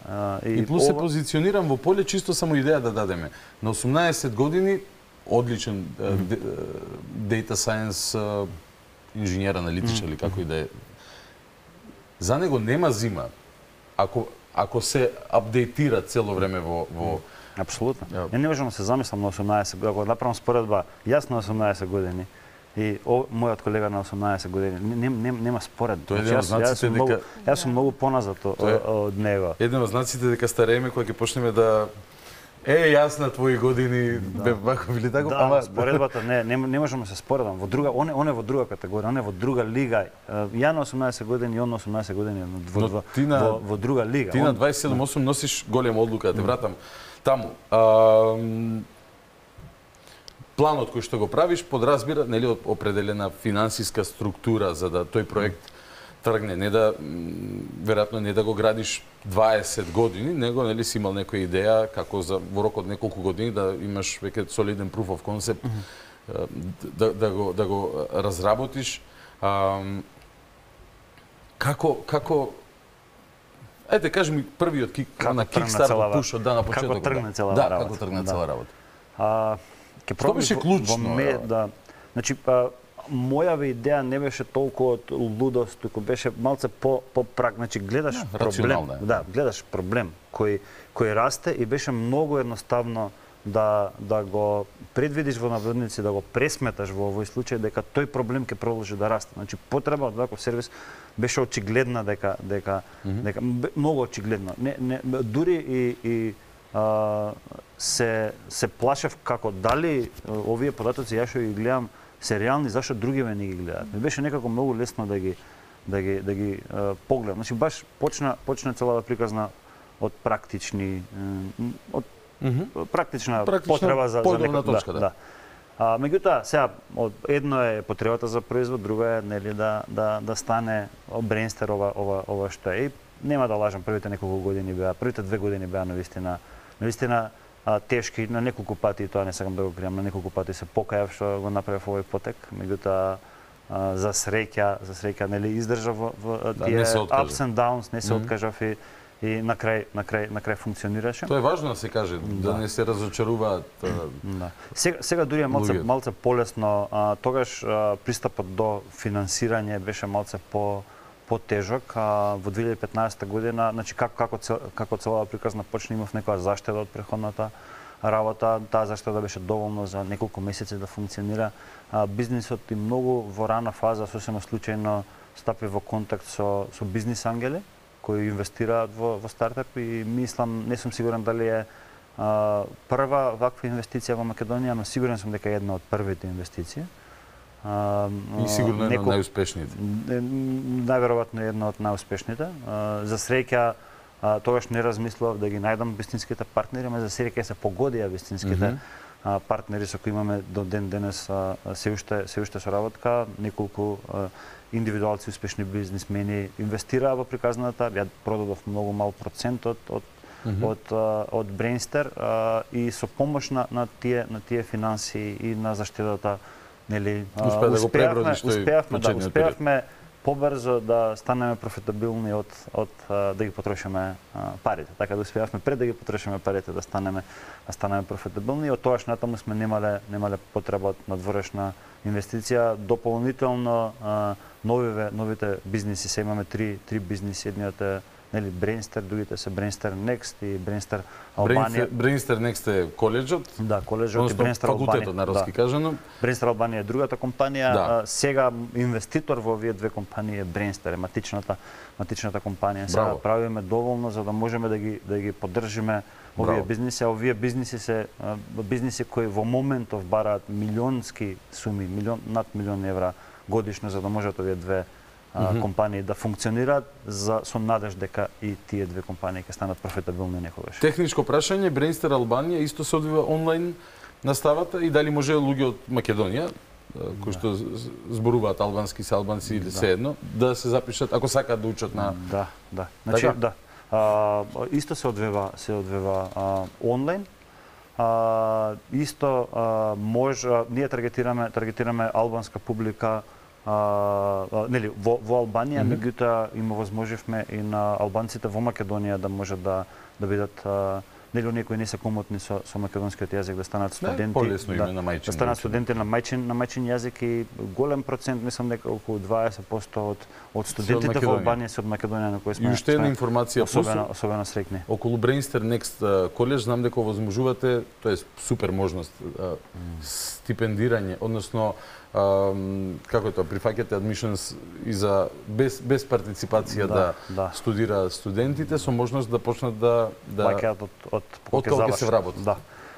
И, и плюс ова... се позиционирам во поле чисто само идеја да дадеме. На осумнаесет години одличен mm -hmm. Data Science инженер, аналитичар или mm -hmm. како и да е. За него нема зима. Ако ако се апдейтира цело време во во Апсолутно. Yeah. Не, не можам да се замислам на осумнаесет години. Ако направам споредба, јас на осумнаесед години и о, мојот колега на осумнаесет години, нем, нем, нема според. Тоа е еден од знаците дека... Многу, јас сум многу поназад е... од него. Еден од знаците дека старееме кога ќе почнеме да... Е, јас на твои години да. бе бако били тако, да, ама... споредбата не, не, не можам да се споредам. Во друга, он, он е во друга категорија, он е во друга лига. Ја на осумнаесет години и он на осумнаесет години во, во, на, во, во друга лига. Ти он... на дваесет и седум осум носиш голема одлука да те вратам таму. А, планот кој што го правиш подразбира, нели, определена финансиска структура за да тој проект тргне, не да веројатно не да го градиш дваесет години, него нели си имал некоја идеја како за во рок од неколку години да имаш веќе солиден proof of concept, mm -hmm. да, да го да го разработиш. А, како како Ајде кажи ми првиот кик на Kickstarter пушот да на почетокот. Како тргне цела да, работа. Како тргне да. цела работа. А, ке Што беше клучно? Во ме, да. Значи, па, мојава идеја не беше толку од лудост, туку беше малце по по прак, значи гледаш да, проблем, да, гледаш проблем кој кој расте и беше многу едноставно да да го предвидиш во наводници, да го пресметаш во овој случај дека тој проблем ќе продолжи да расте. Значи потреба од ваков сервис беше очигледна дека дека mm -hmm. дека многу очигледно. Не не дури и и а, се се плашев како дали овие податоци ја што ги гледам се реални, зашто другиве не ги гледаат. Ми беше некако многу лесно да ги да ги да ги а, погледам. Значи баш почна почна целава приказна од практични од mm -hmm. практична, практична потреба за за некој точка, да. да. А, меѓутоа, сега од едно е потребата за производ, друго е нели да да да стане Brainster ова ова ова што е. И нема да лажам, првите неколку години беа, првите две години беа навистина, навистина а, тешки, на неколку пати, тоа не сакам да го кријам, на неколку пати се покајав што го направив овој потек, меѓутоа за среќа, за среќа нели издржав во, во да, тие ups and downs, не се mm -hmm. откажав и и на крај на крај на крај функционираше. Тоа е важно да се каже, да, да не се разочаруваат. Да. Сега сега дури е малце луѓето. малце полесно, а, тогаш а, пристапот до финансирање беше малце по потежок, а во две илјади и петнаесетта година, значи како како цел, како целава приказна почна, имав некоја заштеда од претходната работа, таа заштеда беше доволно за неколку месеци да функционира. А, бизнисот и многу во рана фаза сосема случајно стапи во контакт со со бизнис ангели кои инвестираат во во стартап и мислам, не сум сигурен дали е а, прва ваква инвестиција во Македонија, но сигурен сум дека е една од првите инвестиции. А, и сигурно една од најуспешните. Најверојатно е една од најуспешните. За среќа тогаш не размислував да ги најдам вистинските партнери, ама за среќа се погодија вистинските mm -hmm. партнери со кои имаме до ден денес се уште се уште соработка, неколку индивидуалци, успешни бизнисмени инвестираа во приказната, ја продадов многу мал процент од од mm -hmm. од, од Brainster и со помош на, на тие на тие финанси и на заштедата, нели, успеа да го пребродиш тој успеавме да успеавме побрзо да станеме профитабилни од од да ги потрошиме парите. Така да успеавме пред да ги потрошиме парите да станеме да станеме профитабилни. Од тогаш натаму сме немале немале потреба од надворешна инвестиција. Дополнително новиве новите бизниси, се имаме три три бизниси, едниот е нели Brainster, другите се Brainster Next и Brainster Албанија. Brainster Next е коледжот. Да, коледжот и Brainster факултетот Албанија. на руски да. кажано. Brainster Албанија е другата компанија. Да. А, сега инвеститор во овие две компании е Brainster, е матичната матичната компанија. Сега Браво. правиме доволно за да можеме да ги да ги поддржиме овие Браво. бизниси, а овие бизниси се а, бизниси кои во моментов бараат милионски суми, милион над милион евра годишно за да можат овие две а, Mm-hmm. компании да функционираат за со надеж дека и тие две компании ќе станат профитабилни некогаш. Техничко прашање, Brainster Албанија исто се одвива онлайн наставата и дали може луѓе од Македонија кои што зборуваат албански, се албанци или се едно, да се запишат ако сакаат да учат на Да, да. Значи, Така? да. А, исто се одвива, се одвива а, онлайн. А, исто а, може ние таргетираме таргетираме албанска публика а, а, нели во, во Албанија, Мгм. меѓутоа им овозможивме и на албанците во Македонија да можат да да бидат а, нели оние кои не се комотни со со македонскиот јазик да станат Не, студенти, полесно да, име на мајчин. да станат студенти на мајчин на мајчин јазик и голем процент, мислам дека околу дваесет проценти од од студентите во Македонија. Албанија се од Македонија на кои сме И уште една сме информација особено плюс, особено срекни. околу Brainster Next коледж знам дека возможувате, тоа е супер можност, а, стипендирање, односно а, како е тоа, прифаќате admissions и за без без партиципација да, Да, да. студираат студентите со можност да почнат да да Плаќаат од од Од кога ќе се вработат. Да.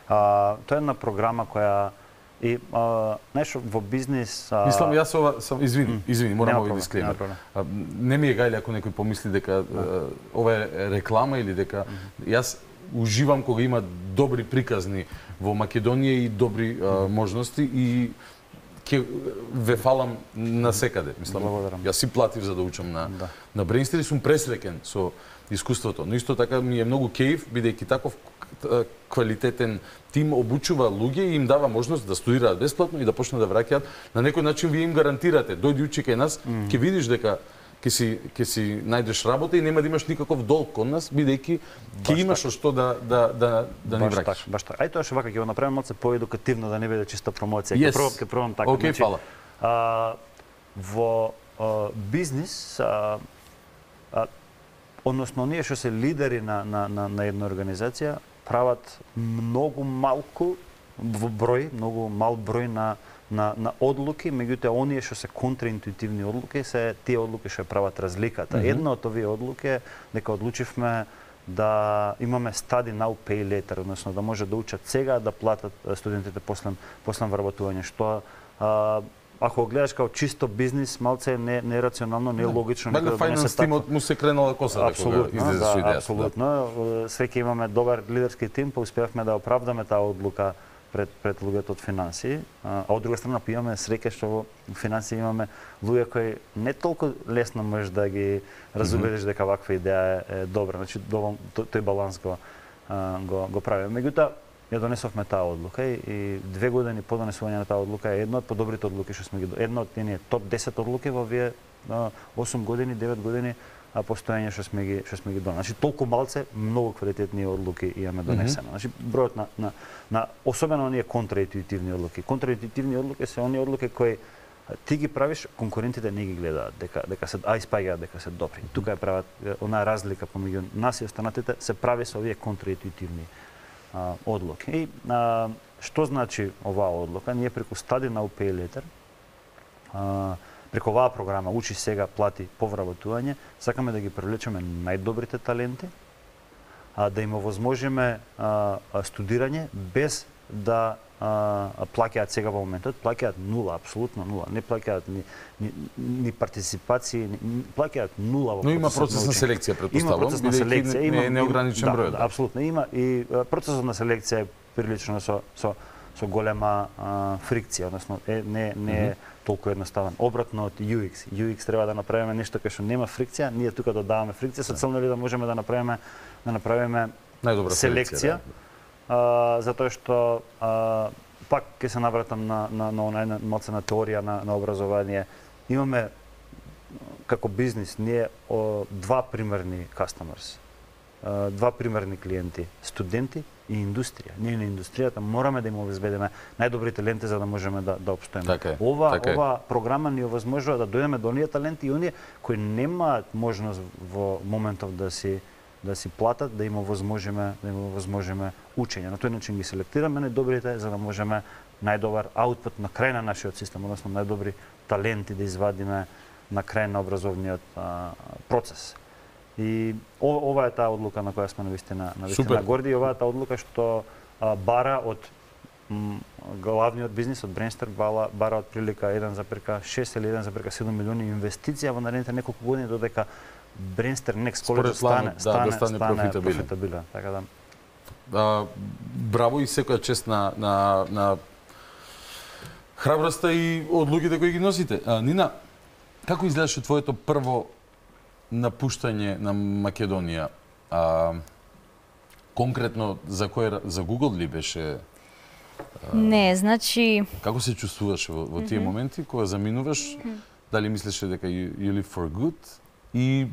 А, тоа е една програма која и а, нешто во бизнис а, Мислам, јас ова сам извини, извини, морам Нема овој проблем, дисклеймер. нема проблем. А, Не ми е гајле ако некој помисли дека а, ова е реклама или дека јас уживам кога има добри приказни во Македонија и добри а, можности и ќе ве фалам на секаде. Мислам, Благодарам. јас си платив за да учам на Да. на Brainster и сум пресреќен со искуството. Но исто така ми е многу кејф бидејќи таков а, квалитетен тим обучува луѓе и им дава можност да студираат бесплатно и да почнат да враќаат. На некој начин вие им гарантирате, дојди учи кај нас, mm. ќе видиш дека ќе си ќе си најдеш работа и нема да имаш никаков долг кон нас бидејќи ќе имаш од што да да да да ни баш враќаш. така, баш така. Ај тоа што вака ќе го направиме малце поедукативно да не биде чиста промоција. Yes. Ќе пробам, ќе пробам така. Океј, фала. А, во а, бизнис а, а, односно оние што се лидери на на на, на една организација прават многу малку во број, многу мал број на на на одлуки, меѓутоа оние што се контраинтуитивни одлуки се тие одлуки што прават разликата. Mm -hmm. Една од овие одлуки е дека одлучивме да имаме study now pay later, односно да може да учат сега да платат студентите после после вработување, што а, ако го гледаш као чисто бизнис, малце не не рационално, не логично, Вака никако да не се фајнанс тимот му се кренала косата кога излезе со да, идејата. апсолутно. Среќа имаме добар лидерски тим, па успеавме да оправдаме таа одлука пред пред луѓето од финансии, а од друга страна па имаме среќа што во финансии имаме луѓе кои не толку лесно можеш да ги разубедиш дека ваква идеја е, е добра. Значи доволно тој баланс го а, го го правиме. Меѓутоа ја донесовме таа одлука и, и две години по донесување на таа одлука е една од подобрите одлуки што сме ги една од тие топ десет одлуки во овие осум години, девет години а постоење што сме ги што сме ги донесли. Значи толку малце многу квалитетни одлуки имаме донесено. Значи бројот на на на особено оние контраинтуитивни одлуки. Контраинтуитивни одлуки се оние одлуки кои ти ги правиш, конкурентите не ги гледаат дека дека се а испаѓаат дека се добри. Тука е прават онаа разлика помеѓу нас и останатите се прави со овие контраинтуитивни а, одлуки. И а, што значи оваа одлука? Ние преку Study Now Pay Later а, преку оваа програма Учи сега, плати по вработување, сакаме да ги привлечеме најдобрите таленти, а, да им овозможиме а, а, студирање без да а, плаќаат сега во моментот, плаќаат нула, апсолутно нула, не плаќаат ни, ни, ни партиципации, ни, плаќаат нула во Но има процесот процес на учење. селекција, Има претпоставувам, процес на селекција, не, има не е неограничен да, број. Да, апсолутно има и а, процесот на селекција е прилично со со со голема а, фрикција, односно е не не е mm -hmm. толку едноставен. Обратно од ю екс, ю екс треба да направиме нешто кај што нема фрикција, ние тука додаваме фрикција со цел нели да можеме да направиме да направиме Најдобра селекција. А, затоа што а, пак ќе се навратам на на на она малце на теорија на на образование. Имаме како бизнис ние о, два примерни customers. два примерни клиенти, студенти и индустрија. Ние на индустријата мораме да им обезбедиме најдобри таленти за да можеме да да опстоиме. Така е, ова така е. ова програма ни овозможува да дојдеме до оние таленти и оние кои немаат можност во моментов да си да си платат, да им овозможиме, да им овозможиме учење. На тој начин ги селектираме најдобрите за да можеме најдобар аутпут на крај на нашиот систем, односно најдобри таленти да извадиме на крај на образовниот а, процес. И о, ова е таа одлука на која сме навистина навистина горди, и ова е таа одлука што а, бара од м, главниот бизнис од Brainster бара, бара од прилика еден запирка шест или еден запирка седум милиони инвестиција во наредните неколку години додека Brainster Next College стане, да, стане, да стане, стане профитабилен. профитабилен. Така да А, браво и секоја чест на на на храброста и одлуките кои ги носите. А, Нина, како изгледаше твоето прво напуштање на Македонија? А, конкретно за кој за Google ли беше? Не, значи Како се чувствуваше во, во тие моменти кога заминуваш? Дали мислеше дека you, you live for good? И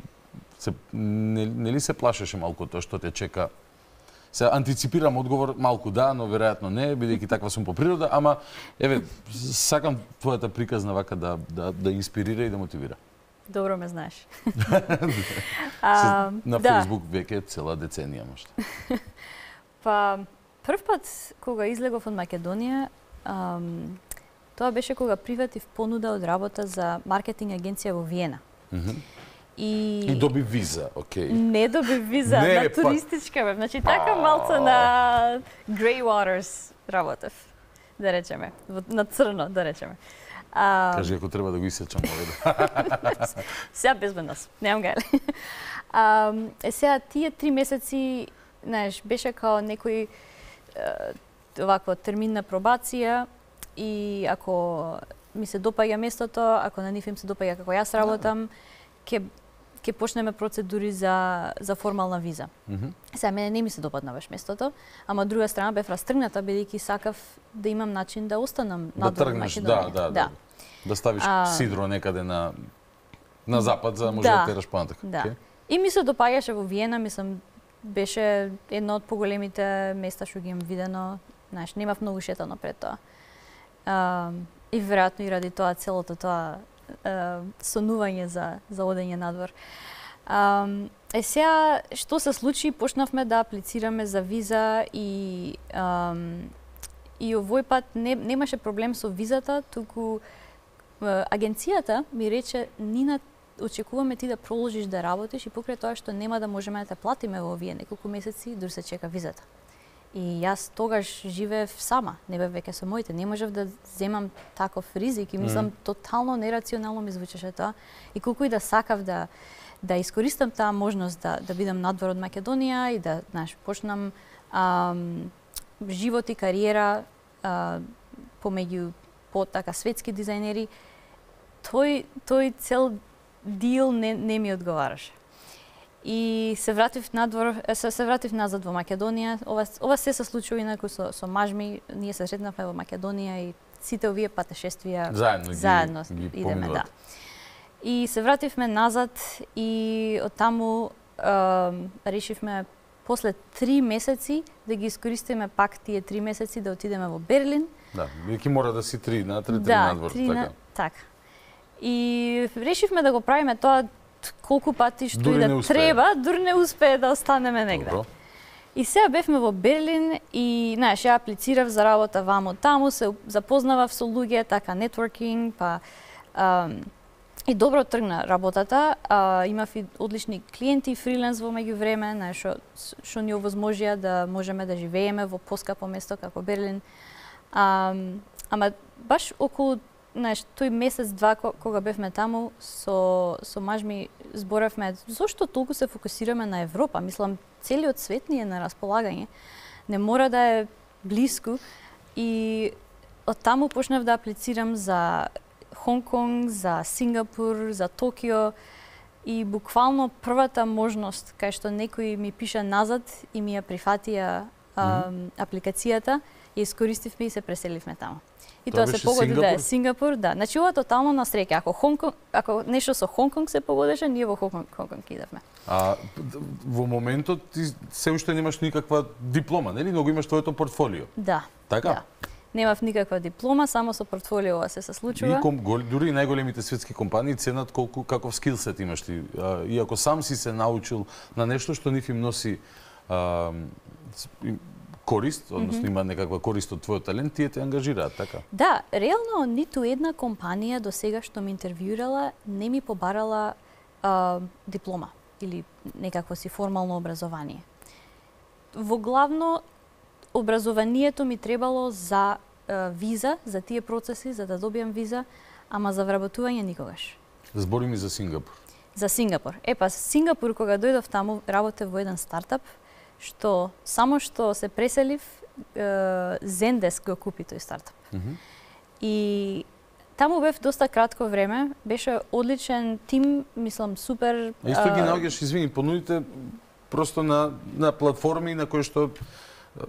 се, не, нели се плашеше малку тоа што те чека? Се антиципирам одговор, малку да, но веројатно не, бидејќи таква сум по природа, ама еве сакам твојата приказна вака да да да инспирира и да мотивира. добро ме знаеш. а, На да. Facebook веќе цела деценија можда. Па прв пат кога излегов од Македонија, ам, тоа беше кога прифатив понуда од работа за маркетинг агенција во Виена. Мгм. И, И доби виза, окей. не доби виза Не, на па- туристичка бев. Значи така малце на Grey Waters работев, да речеме, во- на црно, да речеме. А, Кажи ако треба да го исечам овде. Сега без нас, немам гајле. А, е сега тие три месеци, знаеш, беше као некој е, оваква термин на пробација и ако ми се допаѓа местото, ако на нив им се допаѓа како јас работам, ќе ќе почнеме процедури за за формална виза. Мгм. Сега мене не ми се допадна баш местото, ама од друга страна бев растргната бидејќи сакав да имам начин да останам Да надвор во тргнеш, да, Македонија. да, да. Да ставиш А, сидро некаде на на запад за да може да, да тераш понатака. да. Окей. И ми се допаѓаше во Виена, мислам, беше едно од поголемите места што ги имам видено. Знаеш, немав многу шетано пред тоа. А, и веројатно и ради тоа целото тоа а, сонување за за одење надвор. А, е сега што се случи, почнавме да аплицираме за виза и а, и овој пат не, немаше проблем со визата, туку а, агенцијата ми рече: Нина, очекуваме ти да продолжиш да работиш и покрај тоа што нема да можеме да те платиме во овие неколку месеци дури се чека визата. И јас тогаш живеев сама, не бев веќе со моите, не можев да земам таков ризик и мислам Мгм. тотално нерационално ми звучеше тоа. И колку и да сакав да да искористам таа можност да да бидам надвор од Македонија и да, знаеш, почнам ам, живот и кариера а, помеѓу по така светски дизајнери, тој тој цел дил не, не ми одговараше. И се вратив надвор, се, се вратив назад во Македонија. Ова ова се се случува инаку со со мажми, ние се сретнавме во Македонија и сите овие патешествија Заедно ги, заедно ги идеме, да. поминувате. И се вративме назад и оттаму а, решивме после три месеци да ги искористиме пак тие три месеци да отидеме во Берлин. Да, веќе мора да си три на три, три Да, надвор, три така. на... така. И решивме да го правиме тоа колку пати што Дури и не да успее. треба, дури не успее да останеме негде. Добро. И сега бевме во Берлин и, знаеш, ја аплицирав за работа вамо таму, се запознавав со луѓе, така нетворкинг, па ам, и добро тргна работата. А, имав и одлични клиенти, фриленс во меѓувреме, знаеш, што што ни овозможија да можеме да живееме во поскапо место како Берлин. Ам, ама баш околу, знаеш, тој месец два кога бевме таму со со мажми зборевме зошто толку се фокусираме на Европа. Мислам, целиот свет ни е на располагање. Не мора да е блиску и од таму почнав да аплицирам за Хонг Конг, за Сингапур, за Токио и буквално првата можност кај што некој ми пише назад и ми ја прифатија а, апликацијата, ја искористивме и се преселивме таму. И Тоа тоа, се беше погоди да е Сингапур? Сингапур, да. Значи ова тотално на среќа. Ако Хонконг, ако нешто со Хонконг се погодеше, ние во Хонконг, Хонконг идевме. А во моментот ти се уште немаш никаква диплома, нели? Но го имаш твоето портфолио. Да. Така? Да. Немав никаква диплома, само со портфолио се се И случува. ком, гол, дури и најголемите светски компании ценат колку каков скилсет имаш ти. А, и ако сам си се научил на нешто што нив им носи а, с- им- корист, односно mm -hmm. има некаква корист од твојот талент, тие те ангажираат, така? Да, реално ниту една компанија до сега што ме интервјуирала не ми побарала а, диплома или некакво си формално образование. Во главно образованието ми требало за а, виза, за тие процеси, за да добијам виза, ама за вработување никогаш. Збори ми за Сингапур. За Сингапур. Е, па Сингапур, кога дојдов таму, работев во еден стартап, што само што се преселив, е, Zendesk го купи тој стартап. Mm -hmm. И таму бев доста кратко време, беше одличен тим, мислам супер. А исто ги а, наоѓаш, извини, понудите просто на на платформи на кои што а,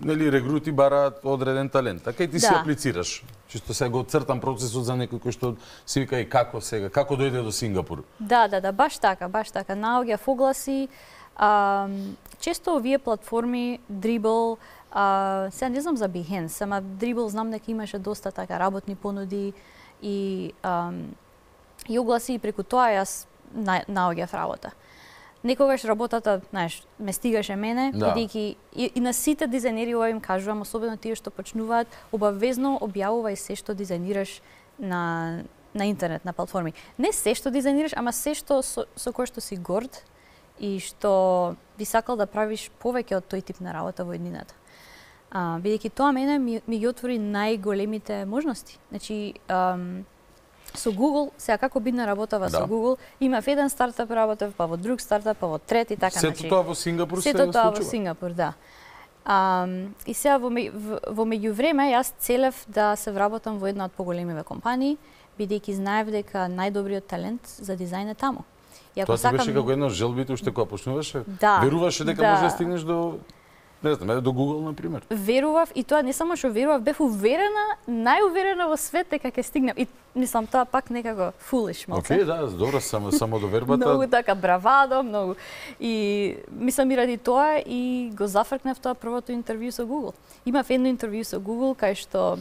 нели регрути бараат одреден талент. Така и ти си Да. аплицираш. Чисто сега го цртам процесот за некој кој што си вика и како сега, како дојде до Сингапур. Да, да, да, баш така, баш така. Наоѓа огласи. А, често овие платформи, Dribbble, а, сега не знам за Behance, ама Dribbble знам дека имаше доста така работни понуди и а, и огласи и преку тоа јас на, наоѓав работа. Некогаш работата, знаеш, ме стигаше мене, Да. бидејќи и, и на сите дизајнери ова им кажувам, особено тие што почнуваат, обавезно објавувај се што дизајнираш на на интернет, на платформи. Не се што дизајнираш, ама се што со, со кое што си горд и што би сакал да правиш повеќе од тој тип на работа во еднината. А, бидејќи тоа мене ми, ми ги отвори најголемите можности. Значи, ам, со Google, сега како бидна работава Да. со Google, имав еден стартап работев, па во друг стартап, па во трети, така, Сето значи, тоа во Сингапур се сето тоа во случува. Сингапур, да. А, и сега во, ме- в- во меѓувреме јас целев да се вработам во една од поголемиве компании, бидејќи знаев дека најдобриот талент за дизајн е таму. И ако Тоа ти беше сакам како една од желбите уште кога почнуваше? Да, Веруваше дека да. може да стигнеш до, не знам, еве, до Google, на пример. верував и тоа не само што верував, бев уверена, најуверена во свет дека ќе стигнем. И мислам тоа пак некако foolish малце. Океј, да, добро, само само до вербата. Многу така бравадо, многу. И мислам и ради тоа и го зафркнав тоа првото интервју со Google. Имав едно интервју со Google кај што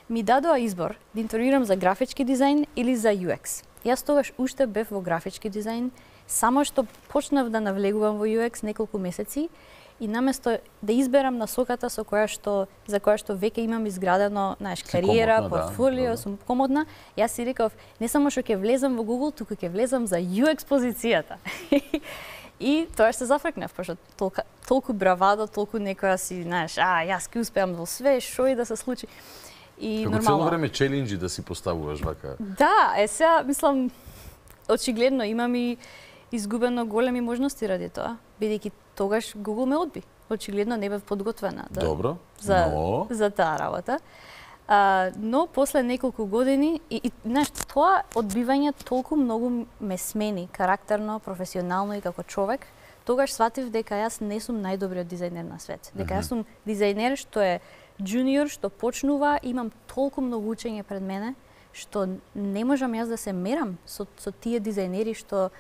ми дадоа избор да интервјуирам за графички дизајн или за ю екс. Јас тогаш уште бев во графички дизајн, само што почнав да навлегувам во ю екс неколку месеци и наместо да изберам насоката со која што за која што веќе имам изградено, знаеш, Си кариера, комодна, да, портфолио, да. сум комодна, јас си реков не само што ќе влезам во Google, туку ќе влезам за ю екс позицијата. И тоа се зафркнав, пошто толку толку бравадо, толку некоја си, знаеш, а јас ќе успеам во све, што и да се случи. И Како нормално. цело време челенџи да си поставуваш вака. Да, е сега, мислам, очигледно имам и изгубено големи можности ради тоа, бидејќи тогаш Google ме одби. Очигледно не бев подготвена да, Добро, за, но... за таа работа. А, но после неколку години, и, и знаеш, тоа одбивање толку многу ме смени карактерно, професионално и како човек, тогаш сватив дека јас не сум најдобриот дизајнер на свет. Дека јас сум дизајнер што е джуниор, што почнува, имам толку многу учење пред мене, што не можам јас да се мерам со, со тие дизајнери што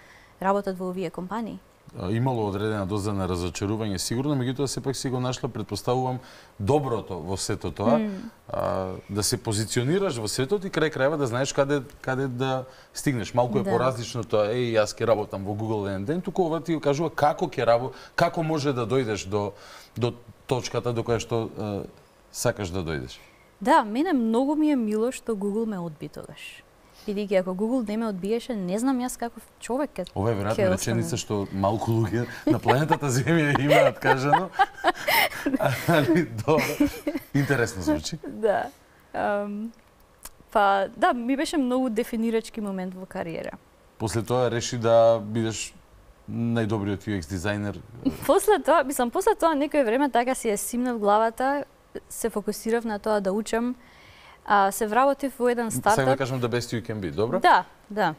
работат во овие компании. а, имало одредена доза на разочарување сигурно, меѓутоа сепак си го нашла, предпоставувам, доброто во сето тоа, mm. а, да се позиционираш во светот и крај крајва да знаеш каде каде да стигнеш. Малку е Да. поразлично тоа, еј, јас ќе работам во Google еден ден, туку ова ти го кажува како ќе рабо, како може да дојдеш до до точката до која што а, сакаш да дојдеш. Да, мене многу ми е мило што Google ме одби тогаш. Бидејќи ако Google не ме одбиеше, не знам јас каков човек ќе Ова е веројатно ќе реченица останам. што малку луѓе на планетата Земја имаат кажано. Али добро. Интересно звучи. Да. Um, па, да, ми беше многу дефинирачки момент во кариера. После тоа реши да бидеш најдобриот ю екс дизајнер. После тоа, мислам, после тоа некој време така си ја симнав главата, се фокусирав на тоа да учам, а, се вработив во еден Сега да стартап. кажам the best you can be, добро? Да, да.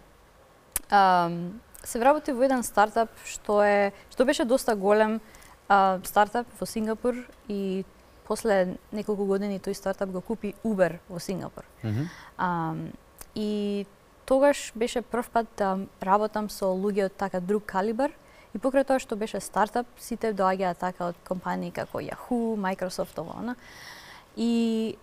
Um, се вработив во еден стартап што е што беше доста голем а, стартап во Сингапур и после неколку години тој стартап го купи Uber во Сингапур. Mm -hmm. а, и тогаш беше прв пат да работам со луѓе од така друг калибар. И покрај тоа што беше стартап, сите доаѓаат така од компании како Yahoo, Microsoft, ова, она. И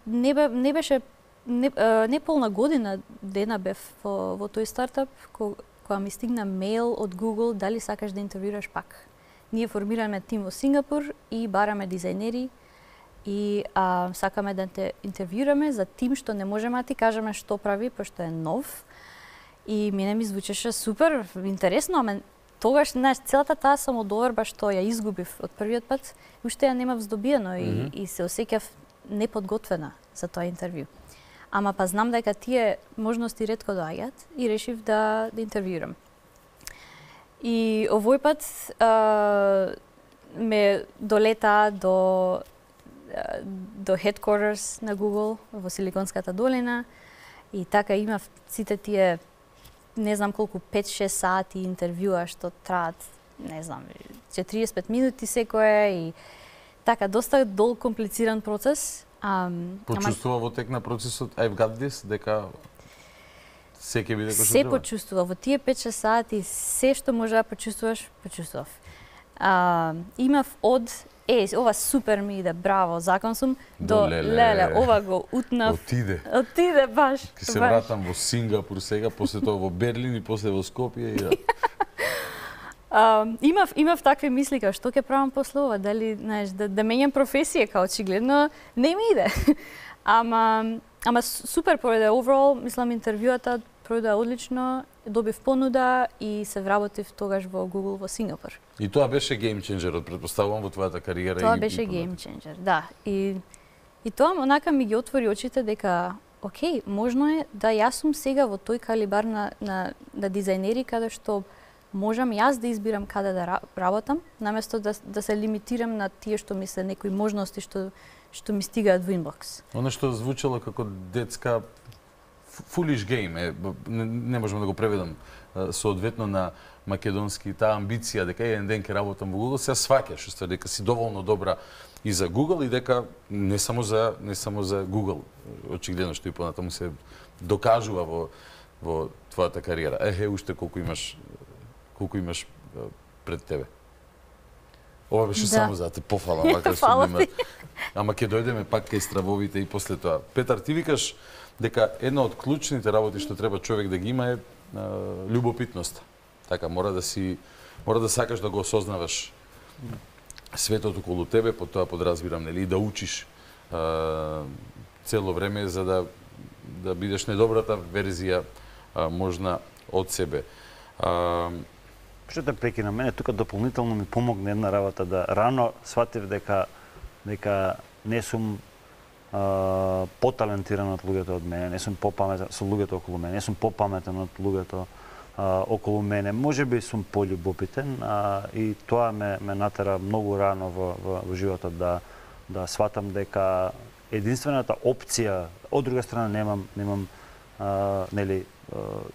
не, бе, не беше не, не полна година дена бев во, во тој стартап, ко, кога ми стигна мејл од Google дали сакаш да интервјураш пак. Ние формираме тим во Сингапур и бараме дизајнери и а, сакаме да те интервјураме за тим што не можеме да ти кажеме што прави, пошто е нов. И мене ми звучеше супер, интересно, ама тогаш, знаеш, целата таа самодоверба што ја изгубив од првиот пат, уште ја немав здобиено и, mm -hmm. и се осеќав неподготвена за тоа интервју. Ама па знам дека тие можности ретко доаѓаат и решив да, да интервјурам. И овој пат а, ме долета до до headquarters на Google во Силиконската долина и така имав сите тие не знам колку пет-шест сати интервјуа што траат, не знам, четириесет и пет минути секое и така доста долг комплициран процес. А, почувствува ама... во тек на процесот I've got this дека се ќе биде како што се почувствува во тие пет-шест сати, се што може да почувствуваш, почувствував. А, имав од е, ова супер ми иде, браво, закон сум, до, до леле, леле, ова го утнав. Отиде. Отиде баш. Ке се баш. Вратам во Сингапур сега, после тоа во Берлин и после во Скопје и да. Uh, имав имав такви мисли како што ќе правам после ова, дали, знаеш, да да менјам професија, као очигледно не ми иде. ама ама супер пројде overall, мислам интервјуата пројде одлично, добив понуда и се вработив тогаш во Google во Сингапур. И тоа беше game changer, претпоставувам, во твојата кариера. Тоа и, беше и game changer, да. И и тоа онака ми ги отвори очите дека окей, можно е да јас сум сега во тој калибар на на, на дизајнери каде што можам јас да избирам каде да работам, наместо да да се лимитирам на тие што ми се некои можности што што ми стигаат во инбокс. Оно што звучало како детска foolish game, е, не, не можам да го преведам соодветно на македонски, таа амбиција дека еден ден ќе работам во Google, се сваќаш што дека си доволно добра и за Google и дека не само за не само за Google, очигледно што и понатаму се докажува во во твојата кариера. Ехе, уште колку имаш колку имаш пред тебе. Ова беше да. Само за да те пофалам, макар што нема. Ама ќе дојдеме пак кај стравовите и после тоа. Петар, ти викаш дека една од клучните работи што треба човек да ги има е а, љубопитноста. Така мора да си мора да сакаш да го осознаваш светот околу тебе, по тоа подразбирам, нели, и да учиш а, цело време за да да бидеш најдобрата верзија а, можна од себе. А, Што те прекина, мене тука дополнително ми помогна една работа да рано сватив дека дека не сум а, поталентиран од луѓето од мене, не сум попаметен со луѓето околу мене, не сум попаметен од луѓето а, околу мене. Можеби сум пољубопитен а, и тоа ме ме натера многу рано во во, во животот да да сватам дека единствената опција, од друга страна немам немам а, нели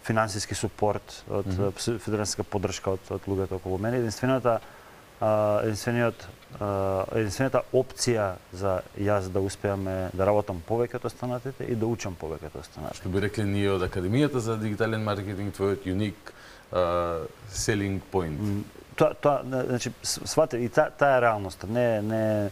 финансиски супорт од mm -hmm. финансиска поддршка од од луѓето околу мене. Единствената единствениот единствената опција за јас да успеаме да работам повеќе од останатите и да учам повеќе од останатите. Што би рекле ние од Академијата за дигитален маркетинг, твојот уник uh, selling point. Mm, тоа тоа значи свате и таа та е реалноста. Не не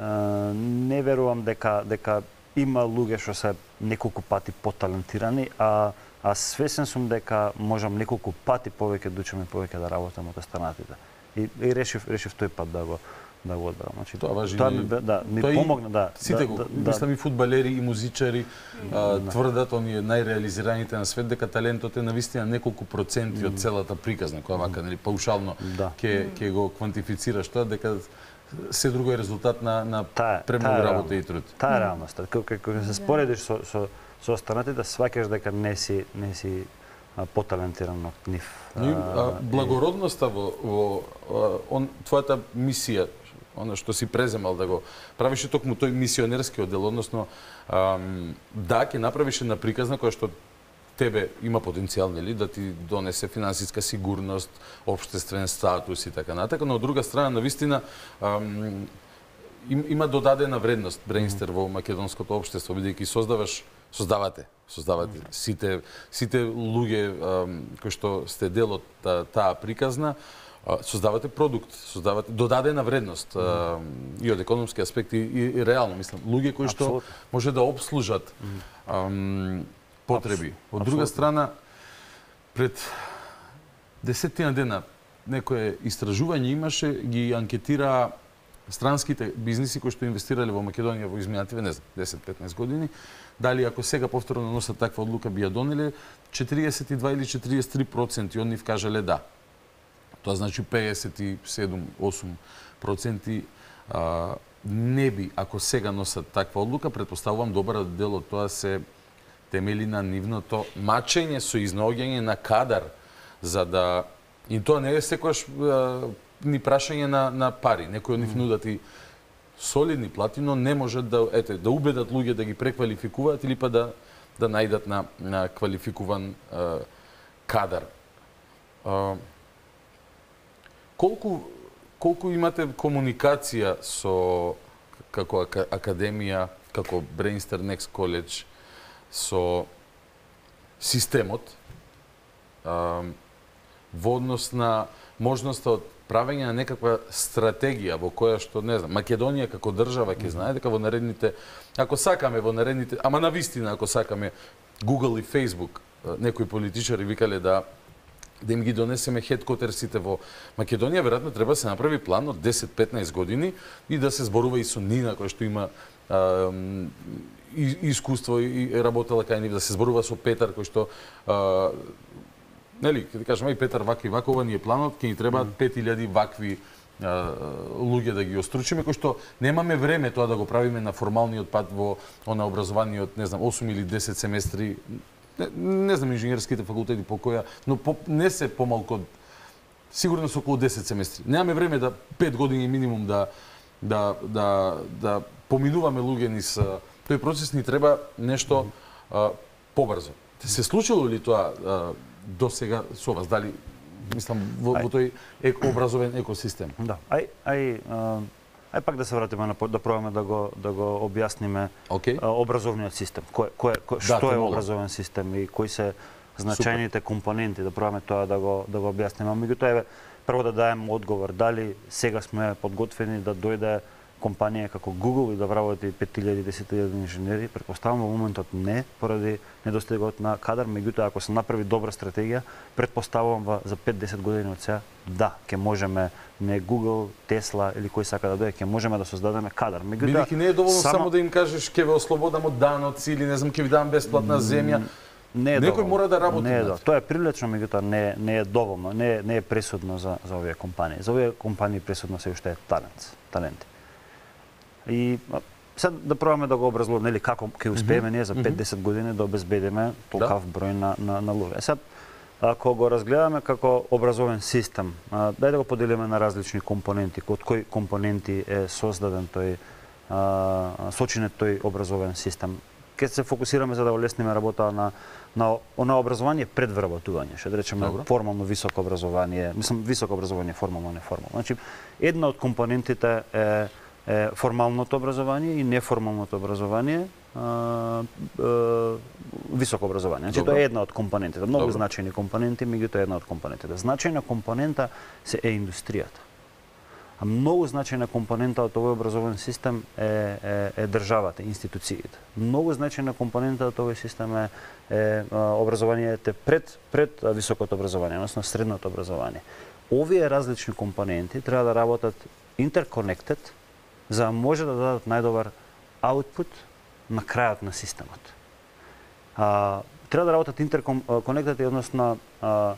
uh, не верувам дека дека има луѓе што се неколку пати поталентирани, а а свесен сум дека можам неколку пати повеќе да учам и повеќе да работам од останатите. И, и решив решив тој пат да го да го одберам. Значи тоа важи тоа ми да ми тоа помогна да сите да, го да, мислам и фудбалери и музичари а, тврдат оние најреализираните на свет дека талентот е навистина неколку проценти од целата приказна, која мака нели паушално ќе ќе го квантифицираш тоа дека се друго е резултат на на премногу работа и труд. Таа е реалноста. Кога кога се споредиш со со со останатите, сваќаш дека не си не си а, поталентиран од нив. Но, а, благородноста во во он твојата мисија, она што си преземал да го правиш токму тој мисионерски оддел, односно ам, да ќе направиш една приказна која што тебе има потенцијал, нели, да ти донесе финансиска сигурност, општествен статус и така натака, но од друга страна навистина ам, им, има додадена вредност Brainster во македонското општество, бидејќи создаваш, создавате, создавате сите сите луѓе кои што сте дел од та, таа приказна, создавате продукт, создавате додадена вредност mm. и од економски аспект и, и реално, мислам, луѓе кои што Absolutely. Може да обслужат mm. ам, потреби. Абс... Од друга Absolutely. Страна, пред десетина дена некое истражување имаше, ги анкетира странските бизниси кои што инвестирале во Македонија во изминативе, не знам, десет-петнаесет години, дали ако сега повторно носат таква одлука би ја донеле, четириесет и два или четириесет и три проценти од нив кажале да. Тоа значи пеесет и седум до осум проценти а, не би, ако сега носат таква одлука, претпоставувам добар дел од тоа се темели на нивното мачење со изнаоѓање на кадар, за да... И тоа не е секојаш ни прашање на, на пари. Некои од нив нудат и солидни плати, но не можат да, ете, да убедат луѓе да ги преквалификуваат или па да, да најдат на, на квалификуван а, кадар. А, Колку, колку имате комуникација со, како академија, како Brainster Next College, со системот, а, во однос на можноста од правење на некаква стратегија во која што, не знам, Македонија како држава ќе знае дека во наредните, ако сакаме во наредните, ама на вистина ако сакаме Google и Facebook, некои политичари викале да да им ги донесеме хедкотерсите во Македонија, веројатно треба да се направи план од десет-петнаесет години и да се зборува и со Нина, која што има а, и, искуство и работела кај нив, да се зборува со Петар, кој што а, нели, ќе ти кажам, и Петар вака и вакова ни е планот, ќе ни требаат пет илјади вакви а, луѓе да ги остручиме, кои што немаме време тоа да го правиме на формалниот пат во она образованиот, не знам, осум или десет семестри. Не, не знам инженерските факултети по која, но по, не се помалку од сигурно со околу десет семестри. Немаме време да пет години минимум да да да да поминуваме луѓе низ тој процес, ни треба нешто а, побрзо. Се случило ли тоа а, до сега со вас? Дали мислам во, во тој еко, образовен екосистем? Да. Ај ај а... Ај пак да се вратиме на да пробаме да го да го објасниме okay. образовниот систем. Кој кој ко, да, што е образовен систем и кои се значајните Супер. Компоненти, да пробаме тоа да го да го објасниме. Меѓутоа еве прво да даем одговор дали сега сме подготвени да дојде компанија како Google и да вработи пет илјади десет илјади инженери. Претпоставувам во моментот не, поради недостигот на кадар, меѓутоа ако се направи добра стратегија, претпоставувам за пет-десет години од сега да, ќе можеме не Google, Tesla или кој сака да дојде, ќе можеме да создадеме кадар. Меѓутоа бидејќи не е доволно само... само да им кажеш ќе ве ослободам од даноци или не знам ќе ви дам бесплатна земја. Не е Некој доволно. Мора да работи. Не е доволно. Тоа е прилично, меѓутоа не не е доволно, не е, не е пресудно за за овие компании. За овие компании пресудно се уште е талент, таленти. И сега да пробаме да го образлуваме, нели како ќе успееме ние за пет-десет години да обезбедиме толкав да. Број на на, на луѓе. Сега ако го разгледаме како образовен систем, дај да го поделиме на различни компоненти, од кои компоненти е создаден тој а, сочинет тој образовен систем. Ке се фокусираме за да олесниме работа на на она образование пред вработување, што да речеме Добро. Формално високо образование, мислам високо образование, формално неформално. Значи една од компонентите е е формалното образование и неформалното образование, а, а, високо образование. Значи тоа е една од компонентите, многу Добро. Значајни компоненти, меѓутоа една од компонентите. Значајна компонента се е индустријата. А многу значајна компонента од овој образовен систем е, е, е државата, институциите. Многу значајна компонента од овој систем е, е образованието пред пред високото образование, односно средното образование. Овие различни компоненти треба да работат interconnected, за да може да дадат најдобар аутпут на крајот на системот. А, треба да работат интерконектат, односно а,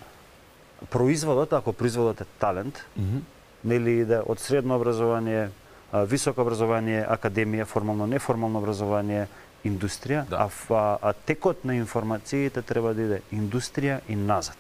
производот, ако производот е талент, mm -hmm. нели иде од средно образование, а, високо образование, академија, формално, неформално образование, индустрија, да. а, а текот на информациите треба да иде индустрија и назад.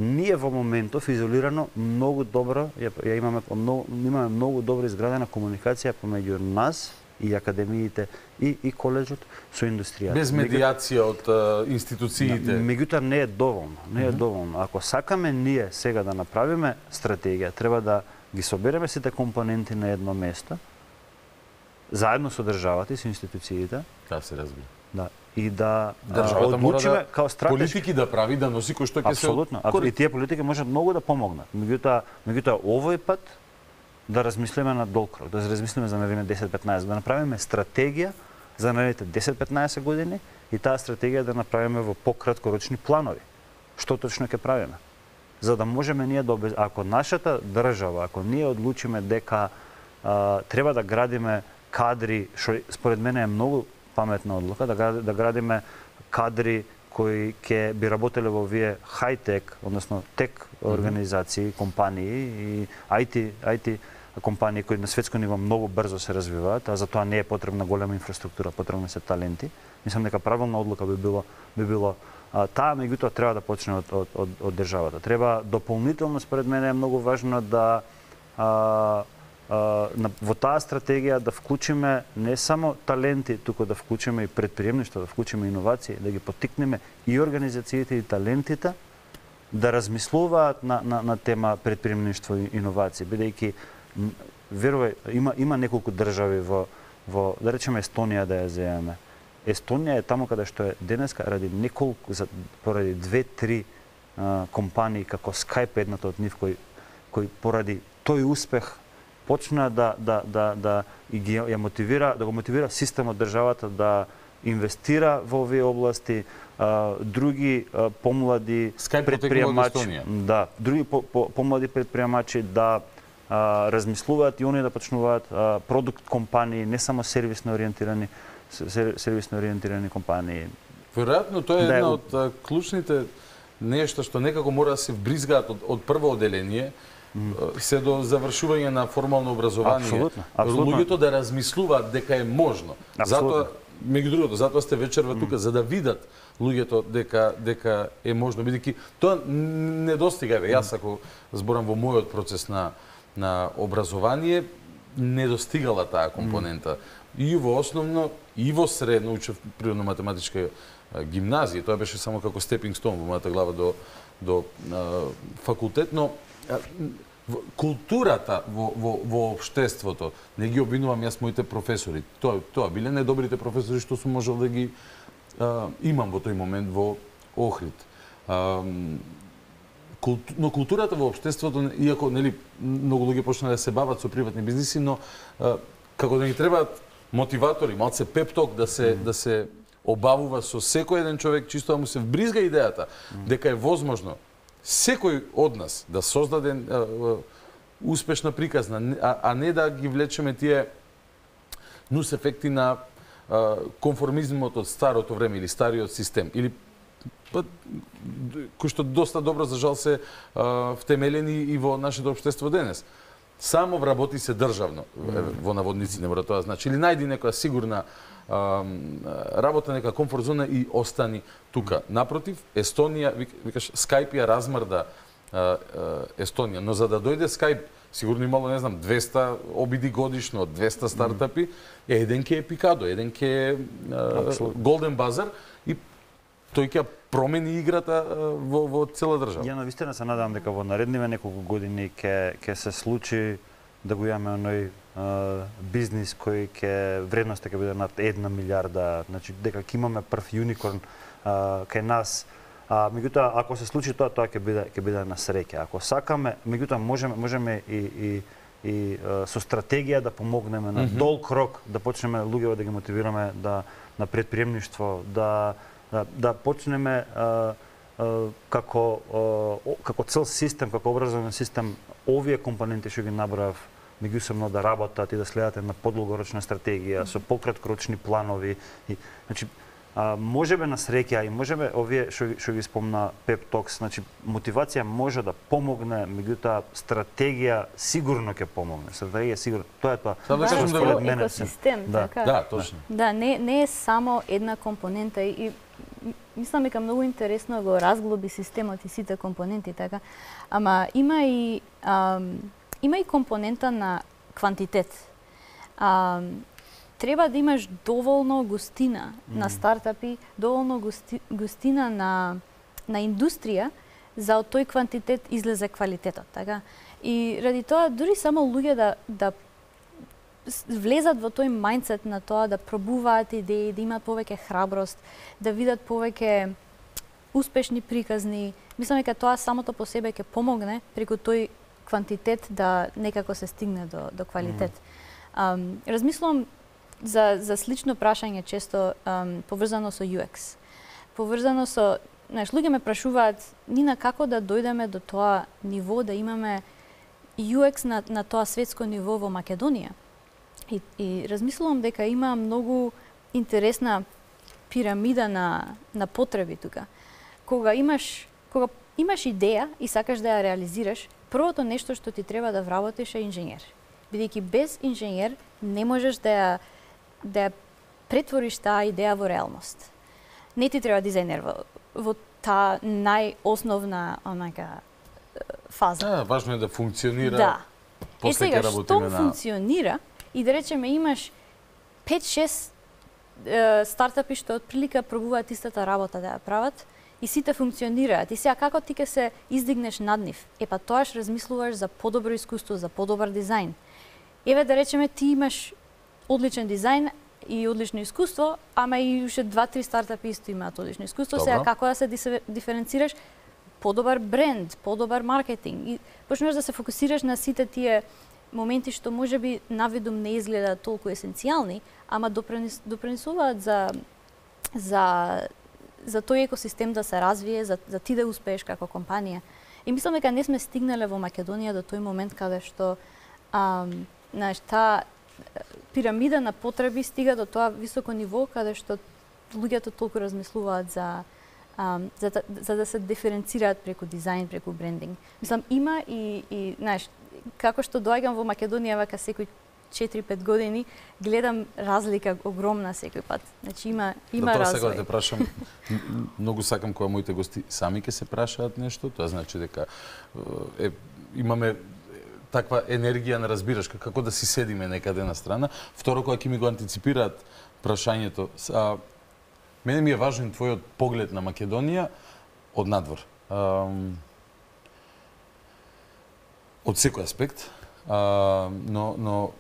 Ние во моментов изолирано многу добро ја, ја имаме многу, имаме многу добро изградена комуникација помеѓу нас и академиите и и коледжот со индустријата. Без медијација од uh, институциите. Меѓутоа не е доволно, не е mm -hmm. доволно. Ако сакаме ние сега да направиме стратегија, треба да ги собереме сите компоненти на едно место заедно со државата и со институциите, Да се разбира. да, и да Државата мора одлучиме да као стратешки политики да прави, да носи кој што ќе се Апсолутно. Апсолутно. И тие политики можат многу да помогнат. Меѓутоа, меѓутоа овој пат да размислиме на долг рок, да размислиме за наредните десет петнаесет, да направиме стратегија за наредните десет петнаесет години и таа стратегија да направиме во пократкорочни планови. Што точно ќе правиме? За да можеме ние да обез... ако нашата држава, ако ние одлучиме дека а, треба да градиме кадри, што според мене е многу паметна одлука, да, гради, да градиме кадри кои ќе би работеле во овие хай-тек, односно тек организации, компании и ай ти, ай ти компании кои на светско ниво многу брзо се развиваат, а за тоа не е потребна голема инфраструктура, потребни се таленти. Мислам дека правилна одлука би било би било а, таа, меѓутоа треба да почне од, од, од, од државата. Треба дополнително, според мене е многу важно да а, на, во таа стратегија да вклучиме не само таленти, туку да вклучиме и предприемништво, да вклучиме иновации, да ги поттикнеме и организациите и талентите да размислуваат на, на, на тема предприемништво и иновации, бидејќи верувај, има има неколку држави во во да речеме Естонија да ја земеме. Естонија е таму каде што е денеска ради неколку за поради две-три компании како Skype едната од нив кои кои поради тој успех почна да да да да и ги ја мотивира, да го мотивира системот државата да инвестира во овие области, а, други а, помлади Skype предприемачи, да, други по, по, помлади предприемачи да а, размислуваат и они да почнуваат а, продукт компании, не само сервисно ориентирани сервисно ориентирани компании. Веројатно тоа е да, една од а, клучните нешта што некако мора да се вбризгаат од, од прво оделение, mm. се до завршување на формално образование. Апсолутно, апсолутно. Луѓето да размислуваат дека е можно. Затоа, меѓу другото, затоа сте вечерва тука, mm. за да видат луѓето дека дека е можно, бидејќи тоа не достига. Еве, јас ако зборам во мојот процес на на образование, не достигала таа компонента. Mm. И во основно, и во средно, учев природно-математичка гимназија, тоа беше само како степинг стон во мојата глава до до а, факултет, но а, културата во, во, во општеството, не ги обвинувам јас моите професори, тоа, тоа биле најдобрите професори што сум можел да ги а, имам во тој момент во Охрид. А, култу, но културата во општеството, иако нели многу луѓе почнале да се бават со приватни бизниси, но а, како да ни требаат мотиватори, малце пепток да се mm. да се обавува со секој еден човек, чисто да му се вбризга идејата mm. дека е возможно секој од нас да создаде а, а, успешна приказна, а, а не да ги влечеме тие нус ефекти на а, конформизмот од старото време или стариот систем, или па, кои што доста добро за жал се а, втемелени и во нашето општество денес. Само вработи се државно, mm. во наводници не мора тоа значи, или најди некоја сигурна а, работа, нека комфорт зона и остани тука. Напротив, Естонија, викаш, Skype ја размрда а, а, Естонија, но за да дојде Skype, сигурно имало, не знам, двеста обиди годишно, двеста стартапи, mm. еден ке е Пикадо, еден ке е Голден Базар и тој ќе промени играта во, во цела држава. Ја навистина се надевам дека во наредниве неколку години ќе ќе се случи да го имаме оној а, бизнис кој ќе вредноста ќе биде над една милиарда, значи дека ќе имаме прв юникорн а, кај нас. А, меѓутоа ако се случи тоа, тоа ќе биде ќе биде на среќа. Ако сакаме, меѓутоа можеме можеме и и и а, со стратегија да помогнеме на mm -hmm. долг рок да почнеме луѓето да ги мотивираме да на предприемништво, да Да, да почнеме а, а, како а, како цел систем, како образовен систем, овие компоненти што ги набрав меѓусебно да работат и да следат на подолгорочна стратегија со пократкорочни планови и значи а, можеме на среќа и можеме овие што што ги спомна Pep Talks, значи мотивација може да помогне, меѓутоа стратегија сигурно ќе помогне. Стратегија сигурно. Тоа е тоа. Да, да, според мене екосистем, да. така. Да, точно. Да, не не е само една компонента и мислам дека многу интересно го разглоби системот и сите компоненти, така. Ама има и ам, има и компонента на квантитет. Ам, треба да имаш доволно густина mm. на стартапи, доволно густи, густина на на индустрија за од тој квантитет излезе квалитетот, така. И ради тоа дури само луѓе да да с- влезат во тој мајндсет на тоа да пробуваат идеи, да имаат повеќе храброст, да видат повеќе успешни приказни. Мислам дека тоа самото по себе ќе помогне преку тој квантитет да некако се стигне до до квалитет. Um, размислувам за за слично прашање често um, поврзано со ю екс. Поврзано со, знаеш, луѓе ме прашуваат Нина како да дојдеме до тоа ниво да имаме ю екс на на тоа светско ниво во Македонија. И, и размислувам дека има многу интересна пирамида на на потреби тука. Кога имаш кога имаш идеја и сакаш да ја реализираш, првото нешто што ти треба да вработиш е инженер. Бидејќи без инженер не можеш да ја да ја претвориш таа идеја во реалност. Не ти треба дизајнер во, во таа најосновна онака фаза. Да, важно е да функционира. Да. Е После сега, ќе работиме што на функционира и да речеме имаш пет-шест е, стартапи што отприлика пробуваат истата работа да ја прават и сите функционираат. И сега како ти ќе се издигнеш над нив? Е па тоаш размислуваш за подобро искуство, за подобар дизајн. Еве да речеме ти имаш одличен дизајн и одлично искуство, ама и уште два-три стартапи исто имаат одлично искуство. Добро. Сега како да се дисе- диференцираш? Подобар бренд, подобар маркетинг и почнеш да се фокусираш на сите тие моменти што можеби навидум не изгледаат толку есенцијални, ама допринес, допринесуваат за за за тој екосистем да се развие, за, за ти да успееш како компанија. И мислам дека не сме стигнале во Македонија до тој момент каде што ам, знаеш, таа пирамида на потреби стига до тоа високо ниво каде што луѓето толку размислуваат за Um, за, да, за да се диференцираат преку дизајн, преку брендинг. Мислам, има и, и знаеш, како што доаѓам во Македонија вака секој четири-пет години, гледам разлика огромна секој пат. Значи има има да, тоа сега развој. да те прашам, м- многу сакам кога моите гости сами ќе се прашаат нешто, тоа значи дека е, имаме таква енергија, не разбираш како да си седиме некаде на страна. Второ, кога ќе ми го антиципираат прашањето, а, мене ми е важен твојот поглед на Македонија од надвор. Ам, од секој аспект, а, но, но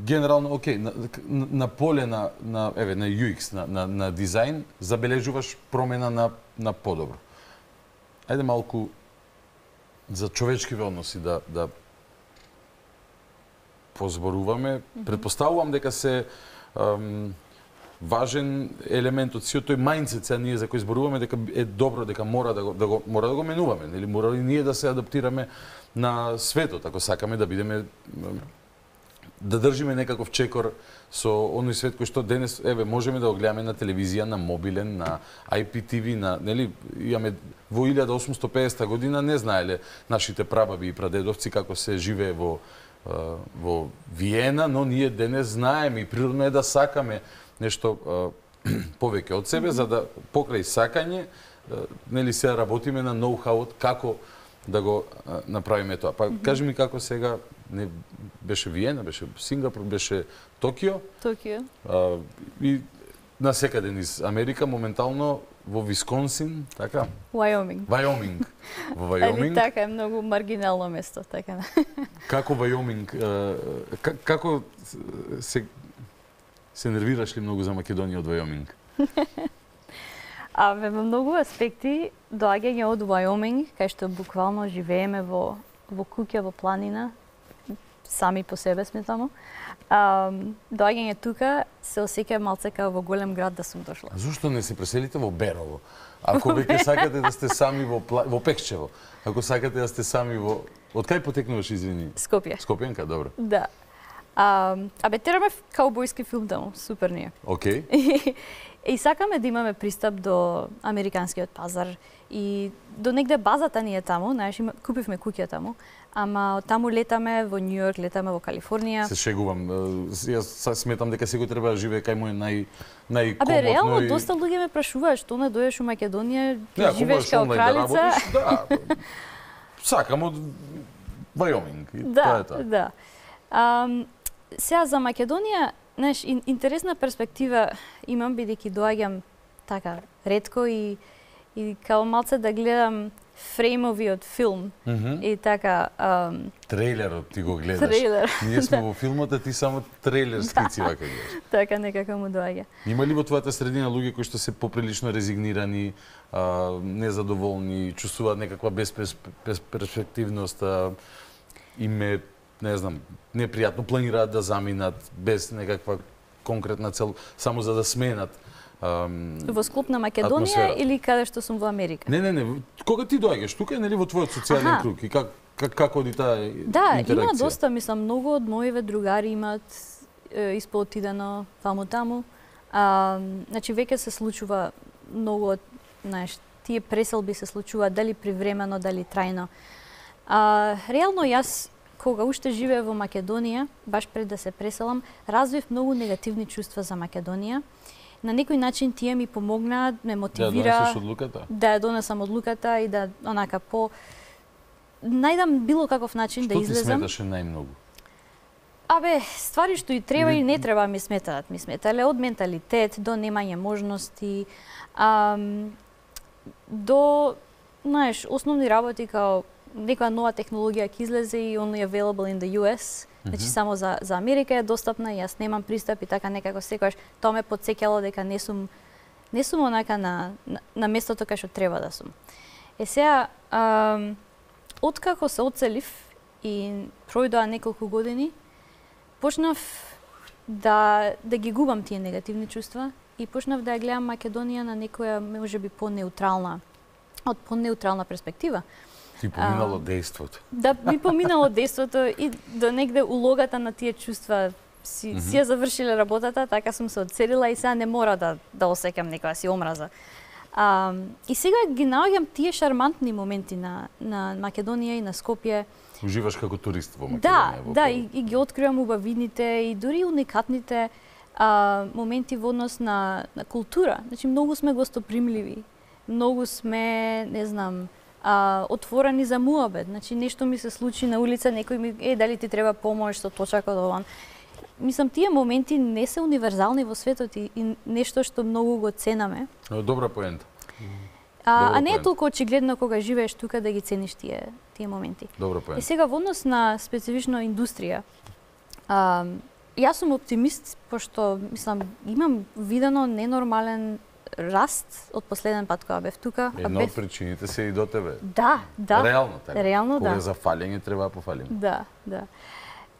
генерално, окей, на, на, на поле на, на, еве, на ю екс, на, на, на дизајн, забележуваш промена на, на подобро. Ајде малку за човечкиве односи да, да позборуваме. Mm-hmm. Предпоставувам дека се ам, важен елемент од сиот тој мајндсет сега ние за кој зборуваме дека е добро, дека мора да го, да го мора да го менуваме, нели мора и ние да се адаптираме на светот, ако сакаме да бидеме да држиме некаков чекор со оној свет кој што денес еве можеме да го гледаме на телевизија, на мобилен, на ай пи ти ви, на нели имаме во илјада осумстотини и педесета година не знаеле нашите прабаби и прадедовци како се живее во во Виена, но ние денес знаеме и природно е да сакаме нешто повеќе од себе, за да покрај сакање, нели се работиме на ноу-хауот како да го а, направиме тоа. Па кажи ми како сега не беше Виена, беше Сингапур, беше Токио. Токио. А, и насекаде низ Америка, моментално во Висконсин, така? Вајоминг. Вајоминг. Во Али Вајоминг. така е многу маргинално место, така. Како Вајоминг, а, ка- како се се нервираш ли многу за Македонија од Вајоминг? А во многу аспекти доаѓање од Вајоминг, кај што буквално живееме во во куќа во планина, сами по себе сме таму. А, доаѓање тука се осеќа малце како во голем град да сум дошла. А зошто не се преселите во Берово? Ако веќе сакате да сте сами во Пла... во Пекчево, ако сакате да сте сами во од кај потекнуваш, извини? Скопје. Скопјанка, добро. Да. А, абе тераме каубојски филм таму, супер ни е. Океј. И, и сакаме да имаме пристап до американскиот пазар и до негде базата ни е таму, знаеш, има, купивме куќа таму, ама од таму летаме во Њу Йорк, летаме во Калифорнија. Се шегувам. Јас са- сметам дека секој треба да живее кај мој нај најкомодно. Абе, реално, и... доста луѓе ме прашуваат што не дојдеш у Македонија, Не, ако живееш можеш као онлайн да кралица. работиш, да. Сакам од Вајоминг. И тоа Да, е тоа. да. Ам, сега за Македонија, знаеш, ин, интересна перспектива имам бидејќи доаѓам така ретко и и као малце да гледам фреймови од филм. Mm -hmm. И така... Um, трейлерот ти го гледаш. Трейлер. Ние сме во филмот, а ти само трейлер скици вака гледаш. Така некако му доаѓа. Има ли во твојата средина луѓе кои што се поприлично резигнирани, а, незадоволни, чувствуваат некаква безперспективност, а, име, не знам, непријатно, планираат да заминат без некаква конкретна цел, само за да сменат во склоп на Македонија атмосфера. Или каде што сум во Америка? Не, не, не. Кога ти доаѓаш тука, нели во твојот социјален круг и как как како оди таа да, интеракција? Да, има доста, мислам, многу од моиве другари имаат е, испоотидено таму таму. А, значи веќе се случува многу од, знаеш, тие преселби се случуваат дали привремено, дали трајно. А, реално јас кога уште живеев во Македонија, баш пред да се преселам, развив многу негативни чувства за Македонија. На некој начин тие ми помогнаат, ме мотивира да донесеш одлуката. Да ја донесам одлуката и да онака по најдам било каков начин што да излезам. Што ти сметаше најмногу? Абе, ствари што и треба и не треба ми сметаат, ми сметале од менталитет до немање можности, ам, до, знаеш, основни работи као некоја нова технологија ќе излезе и only available in the U S. Значи, mm -hmm. само за, за Америка е достапна, јас немам пристап и така некако секогаш тоа ме потсеќало дека не сум не сум онака на, на, на местото кај што треба да сум. Е сега, ам, откако се оцелив и пројдоа неколку години, почнав да, да ги губам тие негативни чувства и почнав да ја гледам Македонија на некоја, можеби, по-неутрална, од по-неутрална перспектива. Ти поминало дејството. Да, ми поминало дејството и до негде улогата на тие чувства си, mm -hmm. си ја завршиле работата, така сум се одселила и сега не мора да, да осеќам некоја си омраза. А, и сега ги наоѓам тие шармантни моменти на, на Македонија и на Скопје. Уживаш како турист во Македонија? Да, во да, и, и ги откривам убавините и дури уникатните а, моменти во однос на, на култура. Значи, многу сме гостопримливи, многу сме, не знам, а, отворени за муабет. Значи, нешто ми се случи на улица, некој ми, е, дали ти треба помош со точакот ован. Мислам, тие моменти не се универзални во светот и, и нешто што многу го ценаме. Добра поента. А, а не е толку очигледно кога живееш тука да ги цениш тие, тие моменти. Добра поента. И сега во однос на специфично индустрија, а, јас сум оптимист, пошто, мислам, имам видено ненормален раст од последен пат кога бев тука. Една бев... од причините се и до тебе. Да, да. Реално така. Реално, кога да. Кога за фалење треба да пофалиме. Да, да.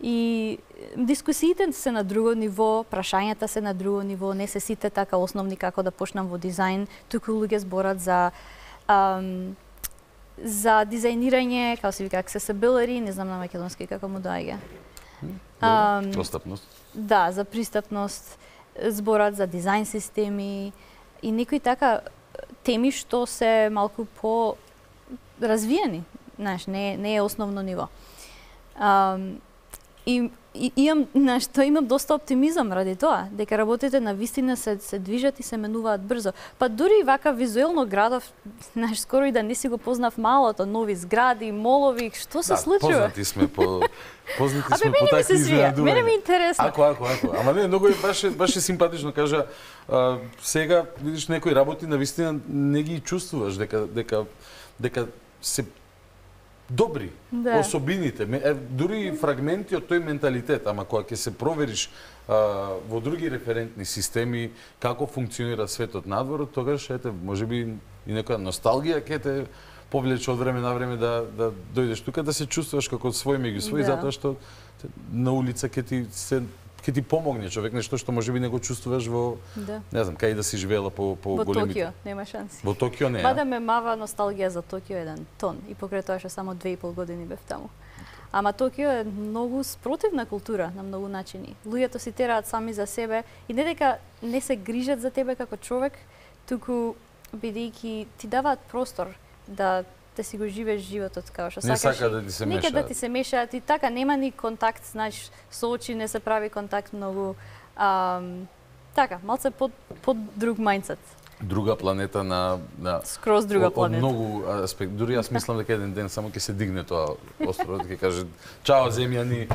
И дискусиите се на друго ниво, прашањата се на друго ниво, не се сите така основни како да почнам во дизајн, туку луѓе зборат за ам, за дизајнирање, како се вика, accessibility, не знам на македонски како му доаѓа. Ам, Достапност. Да, за пристапност, зборат за дизајн системи и некои така теми што се малку по развиени, знаеш, не не е основно ниво. Ам, И, и имам, знаеш, тоа имам доста оптимизам ради тоа, дека работите на вистина се, се движат и се менуваат брзо. Па дури и вака визуелно градов, знаеш, скоро и да не си го познав малото, нови згради, молови, што се да, случува? Познати сме по познати Абе, сме мене по ми такви се свија, изненадувања. мене ми е интересно. Ако, ако, ако. Ама не, многу е баш баш симпатично, кажа, а, сега видиш некои работи на вистина не ги чувствуваш дека дека дека се добри Да. особините, е, дури фрагменти од тој менталитет, ама кога ќе се провериш а, во други референтни системи како функционира светот надвор, тогаш ете можеби и некоја носталгија ќе те повлече од време на време да да дојдеш тука да се чувствуваш како свој меѓу свој, Да. затоа што те, на улица ќе ти се ќе ти помогне човек, нешто што можеби не го чувствуваш во Да. не знам, кај да си живеела по по Во големите. Токио, нема шанси. Во Токио не. Мада а? ме мава носталгија за Токио еден тон и покрај тоа што само две и пол години бев таму. Ама Токио е многу спротивна култура на многу начини. Луѓето си тераат сами за себе и не дека не се грижат за тебе како човек, туку бидејќи ти даваат простор да да си го живееш животот како што Не сакаш. сака да ти се Нека мешаат. да ти се мешаат и така нема ни контакт, знаеш, со очи не се прави контакт многу. Ам, така, малце под под друг мајндсет. Друга планета на на Скроз друга од- планета. Од многу аспект. Дури јас мислам дека еден ден само ќе се дигне тоа остров, ќе каже чао земјани.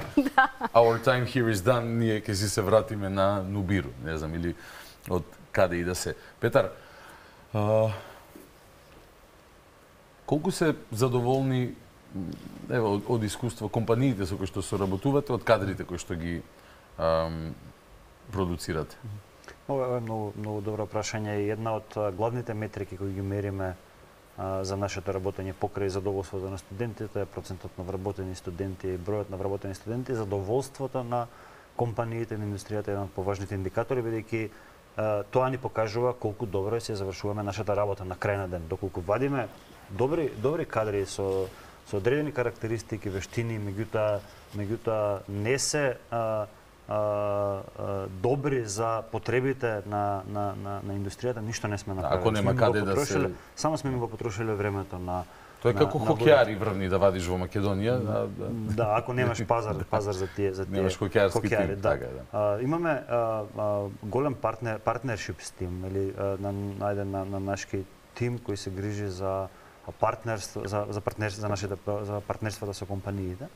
Our time here is done. Ние ќе си се вратиме на Нубиру, не знам или од каде и да се. Петар, а, Колку се задоволни ево од, од искуство компаниите со кои што соработувате, од кадрите кои што ги ам, продуцирате? Ова е многу многу добро прашање и една од а, главните метрики кои ги мериме а, за нашето работење покрај задоволството на студентите, процентот на вработени студенти, бројот на вработени студенти, задоволството на компаниите на индустријата е еден од поважните индикатори, бидејќи тоа ни покажува колку добро се завршуваме нашата работа на крај на ден. Доколку вадиме добри добри кадри со со одредени карактеристики, вештини, меѓутоа меѓутоа не се а, а, а, добри за потребите на на на на индустријата, ништо не сме направили. Ако нема каде да се, само сме ми го потрошиле времето на Тоа е како хокеари врвни да вадиш во Македонија, да, да. Да, ако немаш пазар, пазар за тие за тие. Немаш хокеарски хокеари, тим, да. така да. А, имаме а, а, голем партнер партнершип с тим, или на најден на, на нашки тим кој се грижи за партнерство за за партнерство за нашите за партнерствата со компаниите.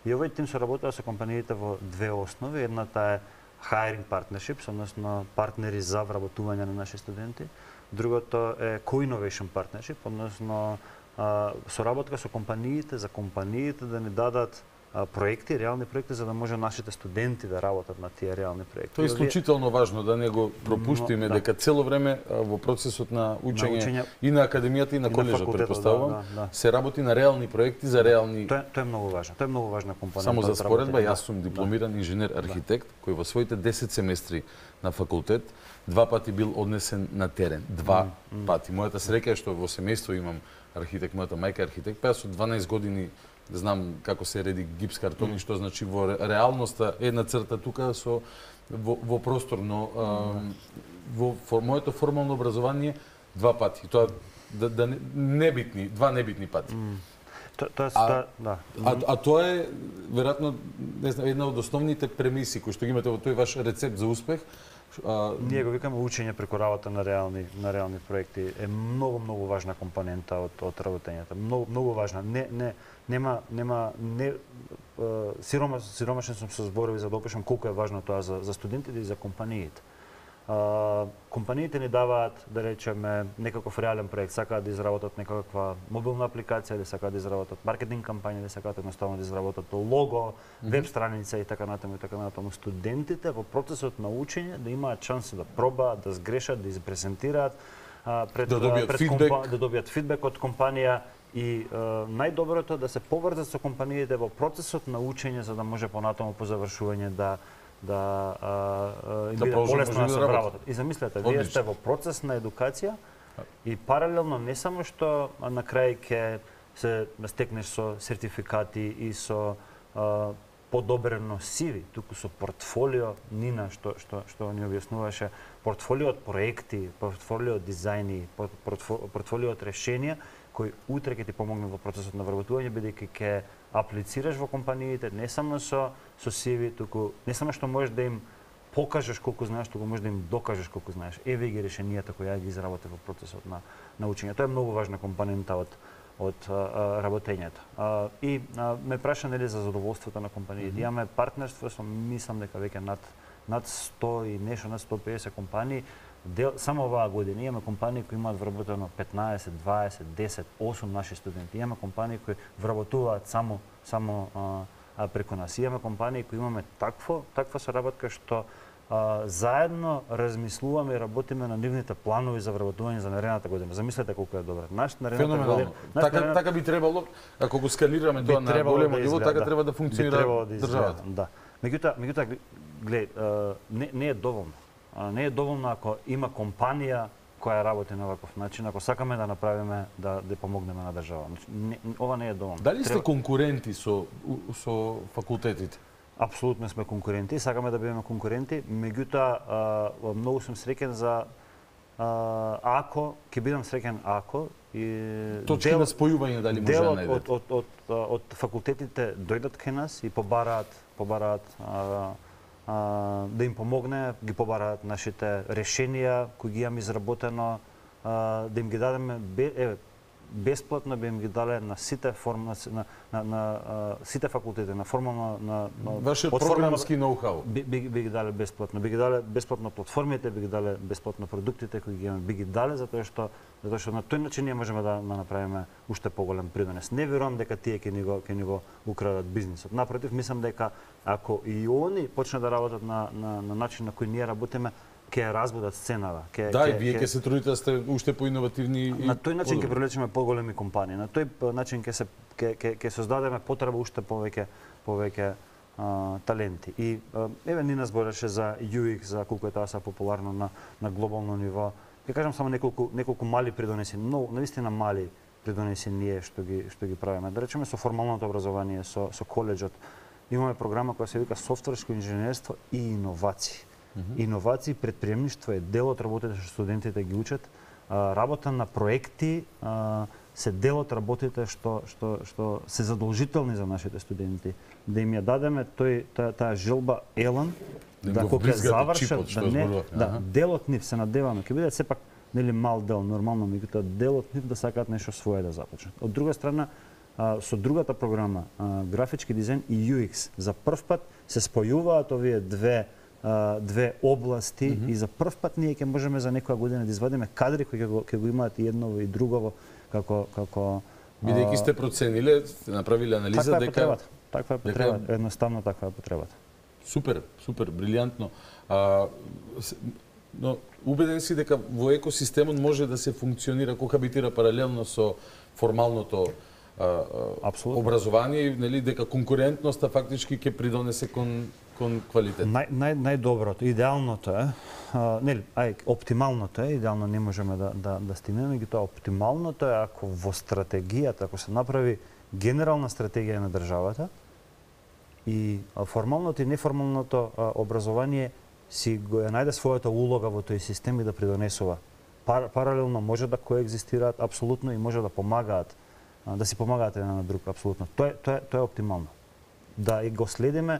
И овој тим соработува со компаниите во две основи. Едната е hiring partnerships, односно партнери за вработување на наши студенти. Другото е co-innovation partnership, односно а, соработка со компаниите, за компаниите да ни дадат а, проекти, реални проекти, за да може нашите студенти да работат на тие реални проекти. Тоа е исклучително важно да не го пропуштиме, да. дека цело време а, во процесот на учење, На учење и на академијата и на и на колежот, факултетот, претпоставувам, да, да, да. се работи на реални проекти за реални. Тоа е, тоа е многу важно. Тоа е многу важна компонента. Само за од споредба, работење. јас сум дипломиран инженер архитект, кој во своите десет семестри на факултет два пати бил однесен на терен. Два Mm, mm. пати. Мојата среќа е што во семејство имам архитект, мојата мајка е архитект, па јас со дванаесет години знам како се реди гипс картон и што значи во ре- реалноста една црта тука со во, во простор, но а, во фор, моето формално образование два пати. Тоа да, да не- небитни, два небитни пати. То- Тоа А- тоа да. А, а тоа е веројатно не знам една од основните премиси кои што ги имате во тој ваш рецепт за успех. А, Ние го викаме учење преку работа на реални на реални проекти е многу многу важна компонента од од работењето. Многу многу важна. Не не нема нема не е, сиромаш сиромашен сум со зборови за да опишам колку е важно тоа за за студентите и за компаниите. А, компаниите ни даваат, да речеме, некаков реален проект, сакаат да изработат некаква мобилна апликација, или сакаат да изработат маркетинг кампања, или сакаат едноставно да изработат лого, веб страница и така натаму и така натаму. Студентите во процесот на учење да имаат шанса да пробаат, да сгрешат, да презентираат пред Да добијат пред фидбек. компа, да добијат фидбек од компанија и е, најдоброто е да се поврзат со компаниите во процесот на учење за да може понатаму по завршување да да а, а, им Да биде продолжат полесно да можеби се да работат. вработат. И замислете, вие Одлично. сте во процес на едукација и паралелно не само што а, на крај ќе се стекнеш со сертификати и со а, подобрено си ви, туку со портфолио, Нина што што што ни објаснуваше, портфолио од проекти, портфолио од дизајни, портфо- портфолио од решенија кои утре ќе ти помогнат во процесот на вработување, бидејќи ќе аплицираш во компаниите не само со со си ви, туку не само што можеш да им покажеш колку знаеш, туку можеш да им докажеш колку знаеш. Еве ги решенијата кои ја ги изработи во процесот на на учење. Тоа е многу важна компонента од од а, а, работењето. А, и а, ме праша нели за задоволството на компаниите. Mm -hmm. Имаме партнерство со мислам дека веќе над над сто и нешто, над сто и педесет компании. Дел, само оваа година имаме компании кои имаат вработено петнаесет, дваесет, десет, осум наши студенти. Имаме компании кои вработуваат само само а, а, преку нас. Имаме компании кои имаме такво таква соработка што а, заедно размислуваме и работиме на нивните планови за вработување за наредната година. Замислете колку е добро. Наш наредната година, Феноменално. наш Така, наредната- така би требало, ако го скалираме би тоа на требало големо да ниво, изгледа, така треба да би функционира требало да изгледа, државата. Да. Меѓутоа, меѓутоа глед, не, не е доволно. А, Не е доволно ако има компанија која работи на ваков начин, ако сакаме да направиме да да помогнеме на држава. Значи, не, ова не е доволно. Дали сте Треба- конкуренти со у- со факултетите? Апсолутно сме конкуренти, сакаме да бидеме конкуренти, меѓутоа а, многу сум среќен за а, ако ќе бидам среќен ако и Точки дел- на спојување дали може да Дел од, најдете? од, од, од, од факултетите дојдат кај нас и побараат, побараат а, а, да им помогне, ги побараат нашите решенија кои ги имаме изработено, а, да им ги дадеме, бе, еве, бесплатно би им ги дале на сите форм на на на, на а, сите факултети на формално на, на Вашиот програмски ноу-хау. Би, би, би ги дале бесплатно, би ги дале бесплатно платформите, би ги дале бесплатно продуктите кои ги имаме, би ги дале затоа што затоа што на тој начин ние можеме да, да направиме уште поголем придонес. Не верувам дека тие ќе ни го ќе ни го украдат бизнисот. Напротив, мислам дека ако и они почнат да работат на на на начин на кој ние работиме, ќе ја разбудат сценава. Ќе Да, и вие ќе се трудите да сте уште поиновативни. На тој начин ќе привлечеме поголеми компании. На тој начин ќе се ќе ќе ќе создадеме потреба уште повеќе повеќе а, таленти. И а, еве Нина збореше за ю екс, за колку е тоа са популарно на на глобално ниво. Ќе кажам само неколку неколку мали придонеси, но навистина мали придонеси ние што ги што ги правиме. Да речеме со формалното образование, со со колеџот имаме програма која се вика софтверско инженерство и иновации. Mm-hmm. Иновации, предприемништво е дел од работите што студентите ги учат. А, работа на проекти а, се дел од работите што што што се задолжителни за нашите студенти. Да им ја дадеме тој таа таа желба елан да кога завршат да не да делот нив се надеваме ќе биде сепак нели мал дел нормално, меѓутоа делот нив да сакаат нешто свое да започнат. Од друга страна а, со другата програма а, графички дизајн и ю екс за прв пат се спојуваат овие две две области mm-hmm. и за прв пат ние ќе можеме за некоја година да извадиме кадри кои ќе го, ќе го имаат и едново и другово како како бидејќи сте процениле, сте направиле анализа така дека таква е потребата, дека... едноставно таква е потребата. Супер, супер, брилјантно. А, но убеден си дека во екосистемот може да се функционира, кохабитира паралелно со формалното а, а, образование, нели дека конкурентноста фактички ќе придонесе кон кон квалитет. Нај, нај, најдоброто, идеалното е, а, нели, ај, оптималното е, идеално не можеме да, да, да стигнеме, меѓутоа оптималното е ако во стратегијата, ако се направи генерална стратегија на државата и а, формалното и неформалното а, образование си го е најде својата улога во тој систем и да придонесува. Пар, паралелно може да коегзистираат апсолутно и може да помагаат, а, да си помагаат еден на друг апсолутно. Тоа е тоа е, тоа е оптимално. Да и го следиме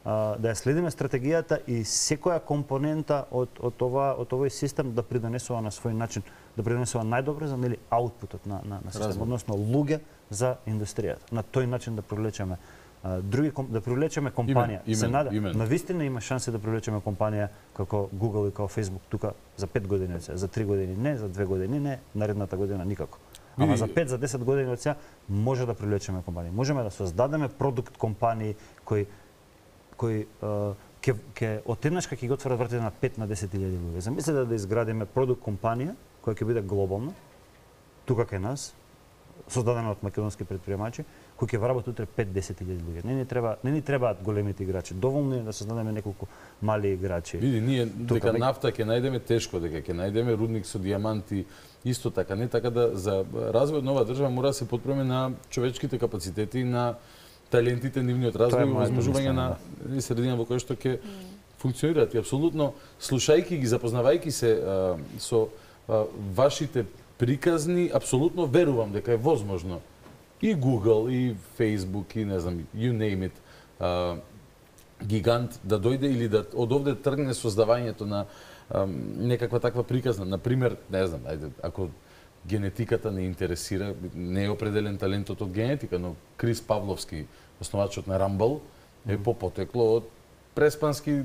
да ја следиме стратегијата и секоја компонента од од ова од овој систем да придонесува на свој начин, да придонесува најдобро за нели аутпутот на на на системот, односно луѓе за индустријата. На тој начин да привлечеме а, други да привлечеме компанија. Имен, се нада, имен. навистина има шанси да привлечеме компанија како Google и како Facebook тука за пет години, за три години не, за две години не, наредната година никако. Ама Види... за пет за десет години од сега може да привлечеме компании. Можеме да создадеме продукт компании кои кои ќе ќе отеднашка ќе го отворат вратите на пет на десет илјади луѓе. Замислете да изградиме продукт компанија која ќе биде глобална, тука кај нас, создадена од македонски предприемачи, кои ќе вработат утре пет до десет илјади луѓе. Не ни треба, не ни требаат големите играчи. Доволно е да создадеме неколку мали играчи. Види, ние тука, дека нафта ќе најдеме тешко, дека ќе најдеме рудник со дијаманти, исто така, не така да за развојот на оваа држава мора да се потпреме на човечките капацитети и на талентите, нивниот развој и возможување на да. средина во која што ќе mm. функционираат. И апсолутно, слушајќи ги, запознавајќи се а, со а, вашите приказни, апсолутно верувам дека е возможно и Google, и Facebook, и не знам, you name it, а, гигант да дојде или да од овде тргне создавањето на а, некаква таква приказна. Например, не знам, ајде, ако генетиката не интересира, не е определен талентот од генетика, но Крис Павловски, основачот на Rumble, е по потекло од преспански е,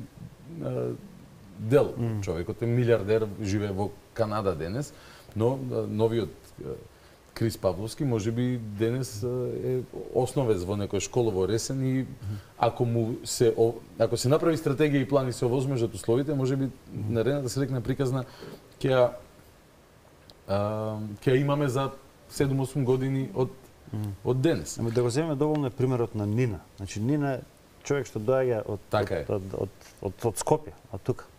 дел. Mm. Човекот е милиардер, живее во Канада денес, но новиот Крис Павловски можеби денес е основец во некој школово ресен и ако му се ако се направи стратегија и план и се овозможат условите, можеби наредната селекна приказна ќе ќе имаме за седум-осум години од mm. од денес. Ами да го земеме доволно е примерот на Нина. Значи Нина е човек што доаѓа од така од, од, од, од, од Скопје, од тука.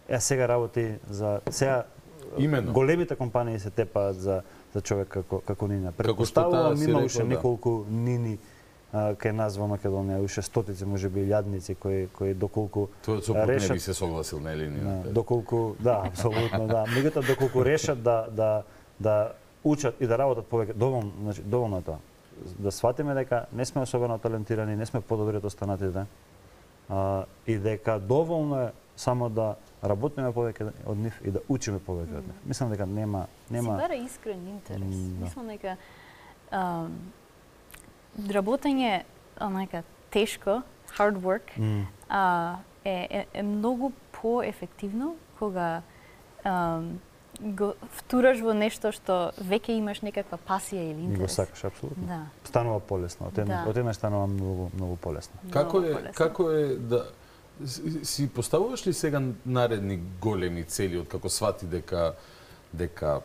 Ја сега работи за сега именно големите компании се тепаат за за човек како како Нина. Претпоставувам има уште да. неколку Нини а, кај нас во Македонија, уште стотици, можеби илјадници кои кои доколку тоа сопрут решат, не би се согласил, нели Нина? Да, доколку да, апсолутно да. Меѓутоа доколку решат да да да учат и да работат повеќе, доволно, значи доволно е тоа. Да сватиме дека не сме особено талентирани, не сме подобри од останатите. А, и дека доволно е само да работиме повеќе од нив и да учиме повеќе од нив. Мислам дека нема нема Си бара искрен интерес. М, да. Мислам дека а, работење онака тешко, hard work, М. а, е, е, е многу поефективно кога а, го втураш во нешто што веќе имаш некаква пасија или и го интерес. сакаш апсолутно. Да. Станува полесно, од една Да. од една станува многу многу полесно. Како Многу е полесно. како е да си- си поставуваш ли сега наредни големи цели од како свати дека дека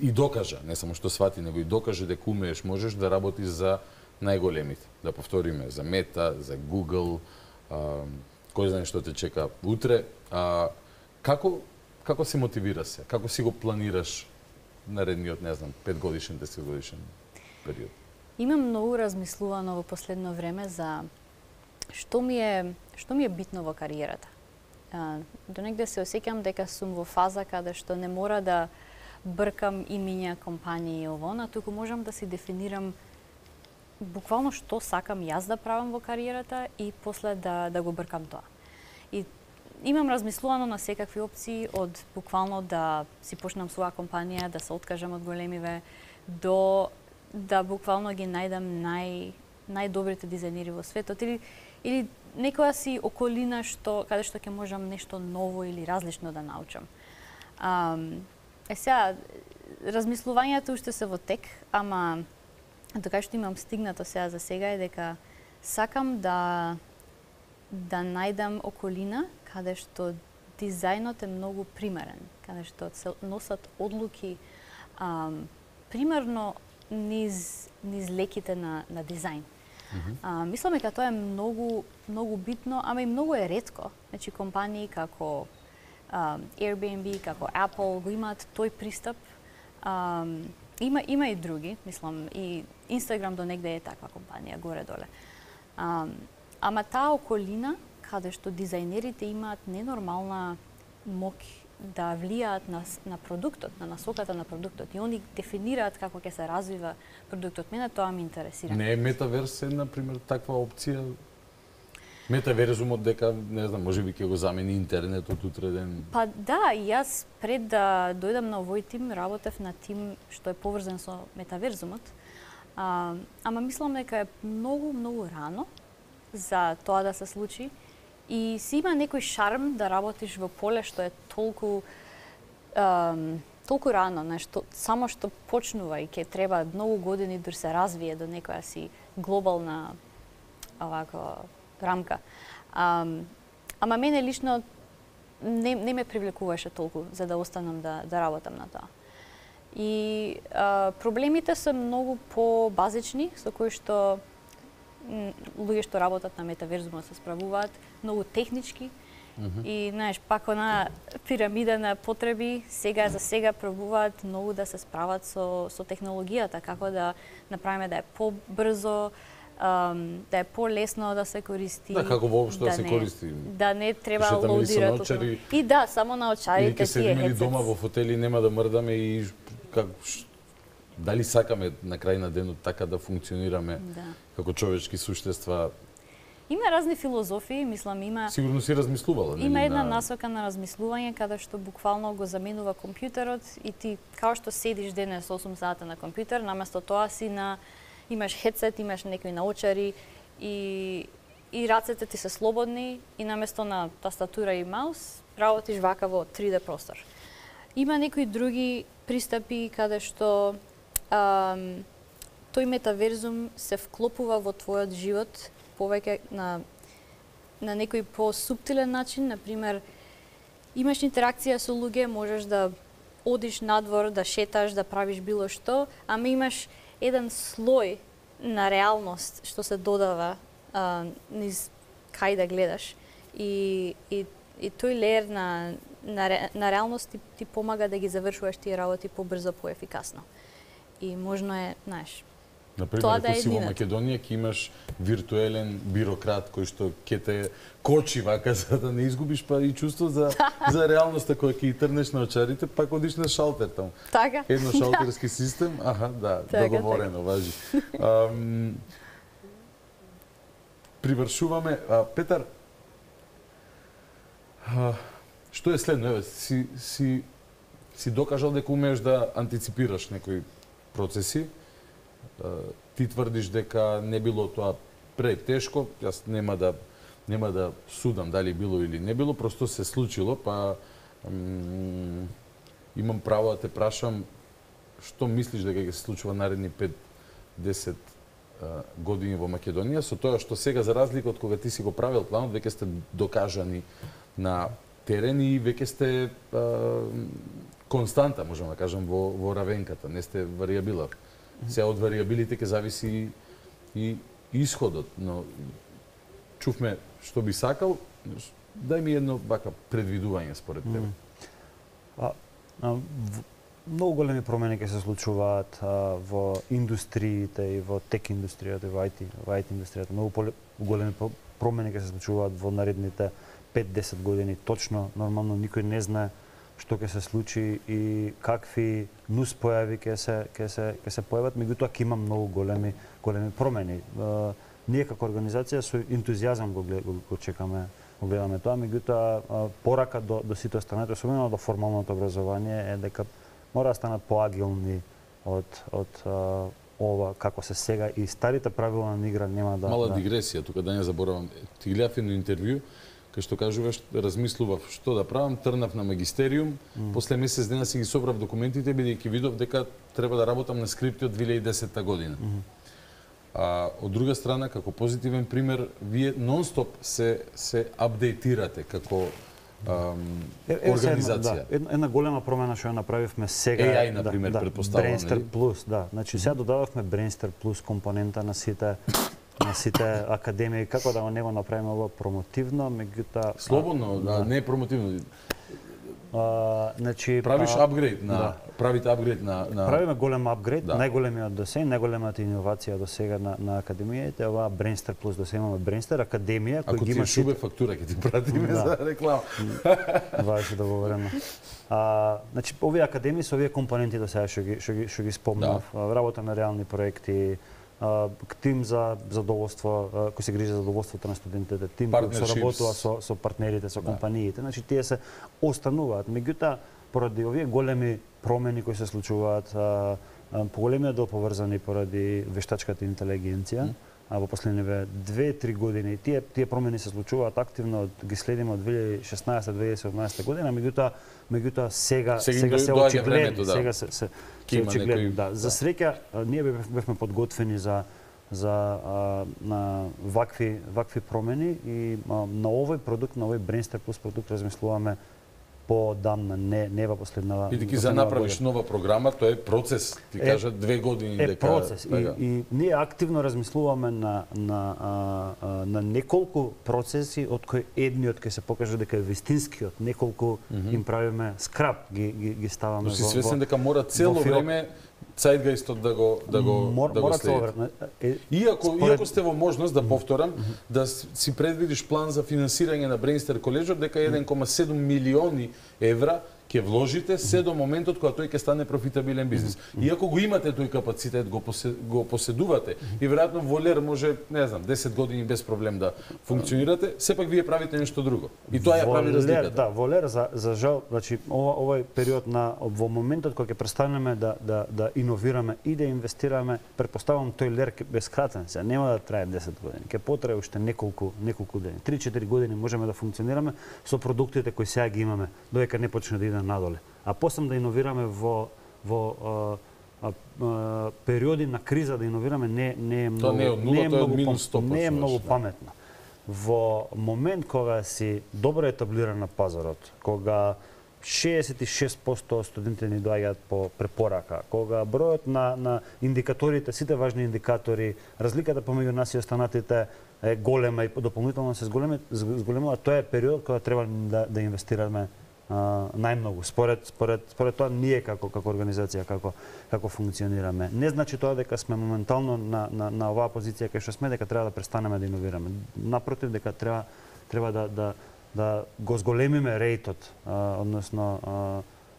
и докажа, не само што свати, него и докаже дека умееш, можеш да работиш за најголемите. Да повториме за Мета, за Google, а, кој знае што те чека утре. А, како како се мотивира се? Како си го планираш наредниот, не знам, пет годишен, десет годишен период? Имам многу размислувано во последно време за што ми е што ми е битно во кариерата. А, до негде се осеќам дека сум во фаза каде што не мора да бркам имиња компании и ово, а туку можам да си дефинирам буквално што сакам јас да правам во кариерата и после да да го бркам тоа. И имам размислувано на секакви опции, од буквално да си почнам своја компанија, да се откажам од големиве, до да буквално ги најдам нај најдобрите дизајнери во светот или или некоја си околина што каде што ќе можам нешто ново или различно да научам. А, е сега размислувањето уште се во тек, ама така што имам стигнато сега за сега е дека сакам да да најдам околина каде што дизајнот е многу примерен, каде што се носат одлуки а, примерно низ низ леките на на дизајн. Мгм. А, мислам дека тоа е многу многу битно, ама и многу е ретко. Значи компании како а, Airbnb, како Apple го имаат тој пристап. А, има има и други, мислам и Instagram до негде е таква компанија горе-доле. А, ама таа околина каде што дизајнерите имаат ненормална моќ да влијаат на, на продуктот, на насоката на продуктот и они дефинираат како ќе се развива продуктот. Мене тоа ме интересира. Не е метаверс е, например, таква опција? Метаверзумот дека, не знам, може би ќе го замени интернетот утре ден. Па да, и јас пред да дојдам на овој тим, работев на тим што е поврзан со метаверзумот. А, ама мислам дека е многу, многу рано за тоа да се случи. И си има некој шарм да работиш во поле што е толку ем, толку рано, нешто само што почнува и ќе треба многу години да се развие до некоја си глобална овако рамка. Ам, ама мене лично не, не ме привлекуваше толку за да останам да, да работам на тоа. И а, проблемите се многу по-базични со кои што м, луѓе што работат на метаверзумот се справуваат, многу технички. Мгм. И знаеш, пак она пирамида на потреби, сега за сега пробуваат многу да се справат со со технологијата, како да направиме да е побрзо, ам, да е полесно да се користи. Да, како воопшто да се не- користи. Да не треба Шетаме ли со лоудират. наочари? И да, само на Или очарите ќе тие седиме ли headsets. дома во фотели, нема да мрдаме и как ш- дали сакаме на крај на денот така да функционираме Да. како човечки суштества? Има разни филозофии, мислам, има Сигурно си размислувала, нели? Има една на... насока на размислување каде што буквално го заменува компјутерот и ти као што седиш денес осум сата на компјутер, наместо тоа си на имаш хедсет, имаш некои наочари и и рацете ти се слободни и наместо на тастатура и маус работиш вака во три де простор. Има некои други пристапи каде што ам, тој метаверзум се вклопува во твојот живот повеќе на на некој по-суптилен начин, на пример, имаш интеракција со луѓе, можеш да одиш надвор, да шеташ, да правиш било што, ама имаш еден слој на реалност што се додава а, низ кај да гледаш и и и тој леер на на, ре, на реалност ти, ти помага да ги завршуваш тие работи побрзо, поефикасно. И можно е, знаеш, Например, тоа ако да е си во едината. Македонија, ќе имаш виртуелен бирократ кој што ќе те кочи вака за да не изгубиш па и чувство за за реалноста која ќе ги трнеш на очарите, пак одиш на шалтер таму. така. Едно шалтерски систем, аха, да, Така, договорено, важи. Ам, привршуваме. А, Петар, А, што е следно? Еве, си, си, си докажал дека умееш да антиципираш некои процеси. А, ти тврдиш дека не било тоа претешко. Јас нема да нема да судам дали било или не било, просто се случило, па м, имам право да те прашам што мислиш дека ќе се случува наредни пет до десет години во Македонија, со тоа што сега, за разлика од кога ти си го правил планот, веќе сте докажани на терен и веќе сте а, константа, можам да кажам, во, во равенката, не сте варијабила. Сега од варијабилите ќе зависи и исходот, но чувме што би сакал, дај ми едно бака предвидување според тебе. А, а, в, многу големи промени ќе се случуваат а, во индустриите и во тек индустријата и во ай ти, во ай ти индустријата. Многу поле, големи промени ќе се случуваат во наредните пет до десет години. Точно, нормално никој не знае што ќе се случи и какви нуспојави ќе се ќе се ќе се појават, меѓутоа ќе има многу големи големи промени. А, ние како организација со ентузијазам го, го, го чекаме, го гледаме тоа, меѓутоа порака до до сите останати, особено до формалното образование, е дека мора да станат поагилни од од а, ова како се сега и старите правила на игра нема да. Мала да... дигресија, тука да не заборавам. Ти гледав едно интервју кај што кажуваш, размислував што да правам, трнав на магистериум, mm. после месец дена си ги собрав документите бидејќи видов дека треба да работам на скрипти од две илјади и десета година. Mm. А од друга страна, како позитивен пример, вие нон-стоп се се апдейтирате како ам, е, е, организација. Една, да, една, една голема промена што ја направивме сега Ей ай, на пример, да, претпоставам, Brainster нели? Plus, да. Значи сега додававме Brainster Plus компонента на сите на сите академии, како да го не го направиме ова промотивно, меѓутоа Слободно, да, не промотивно. А, значи Правиш а, апгрейд на да. правите апгрейд на на Правиме голем апгрейд, Да. најголемиот до сега, најголемата иновација до сега на на академијата, ова Brainster Plus, до сега имаме Brainster академија која Ако ги ти има е шубе фактура ќе ти пратиме Да. за реклама. Ваше договорено. А, значи овие академии со овие компоненти до сега што ги што ги што ги спомнав, да. Работа на реални проекти, а, тим за задоволство, а, кој се грижи за задоволството на студентите, тим кој соработува со со партнерите, со компаниите. Значи тие се остануваат. Меѓутоа, поради овие големи промени кои се случуваат, а, а, поголемиот дел поврзани поради вештачката интелигенција, а во последниве две-три години тие тие промени се случуваат активно, од, ги следиме од две илјади и шеснаесета до две илјади и седумнаесета година, меѓутоа меѓутоа сега Сега сега, им се доаѓа очигледно, времето, да. сега се се, Ке се има очигледно, некои- да. За среќа а, ние бев- бевме подготвени за за а, на вакви вакви промени и а, на овој продукт, на овој Brainster Plus продукт размислуваме подамна, не не во последнава. Бидејќи за последнава направиш година. нова програма, тоа е процес. Ти Е, кажа две години Е дека процес така. и, и ние активно размислуваме на на а, а, на неколку процеси од кои едниот ќе се покаже дека е вистинскиот, неколку mm -hmm. им правиме скрап, ги ги, ги ставаме Но си во свесен во- дека мора цело во филм. време цајдгајстот да го да го Мор, да го мора следите. цело време. Е, Иако, според- иако сте во можност, да повторам, да с- си предвидиш план за финансирање на Brainster коледжот, дека еден кома седум милиони евра ќе вложите се до моментот кога тој ќе стане профитабилен бизнис. Иако го имате тој капацитет, го, посе, го поседувате и веројатно во Лер може, не знам, десет години без проблем да функционирате, сепак вие правите нешто друго. И тоа ја Во прави Лер, разликата. Да, во Лер за за жал, значи ова овој период на во моментот кога ќе престанеме да да да иновираме и да инвестираме, претпоставувам тој Лер ќе бескратен, се нема да трае десет години. Ќе потрае уште неколку неколку години. три-четири години можеме да функционираме со продуктите кои сега ги имаме, додека не почне да иде надоле. А после да иновираме во во а, а, а, периоди на криза да иновираме не не е многу не е од нула, не е тоа е од многу минус пам- сто не е почнуваш, многу да. паметно. Во момент кога си добро етаблиран на пазарот, кога шеесет и шест проценти студенти ни доаѓаат по препорака, кога бројот на на индикаторите, сите важни индикатори, разликата помеѓу нас и останатите е голема и дополнително се зголеми, зголемува, тоа е период кога треба да да инвестираме а, најмногу. Според според според тоа ние како како организација како како функционираме. Не значи тоа дека сме моментално на на на оваа позиција кај што сме, дека треба да престанеме да иновираме. Напротив, дека треба треба да да да го зголемиме рейтот, а, односно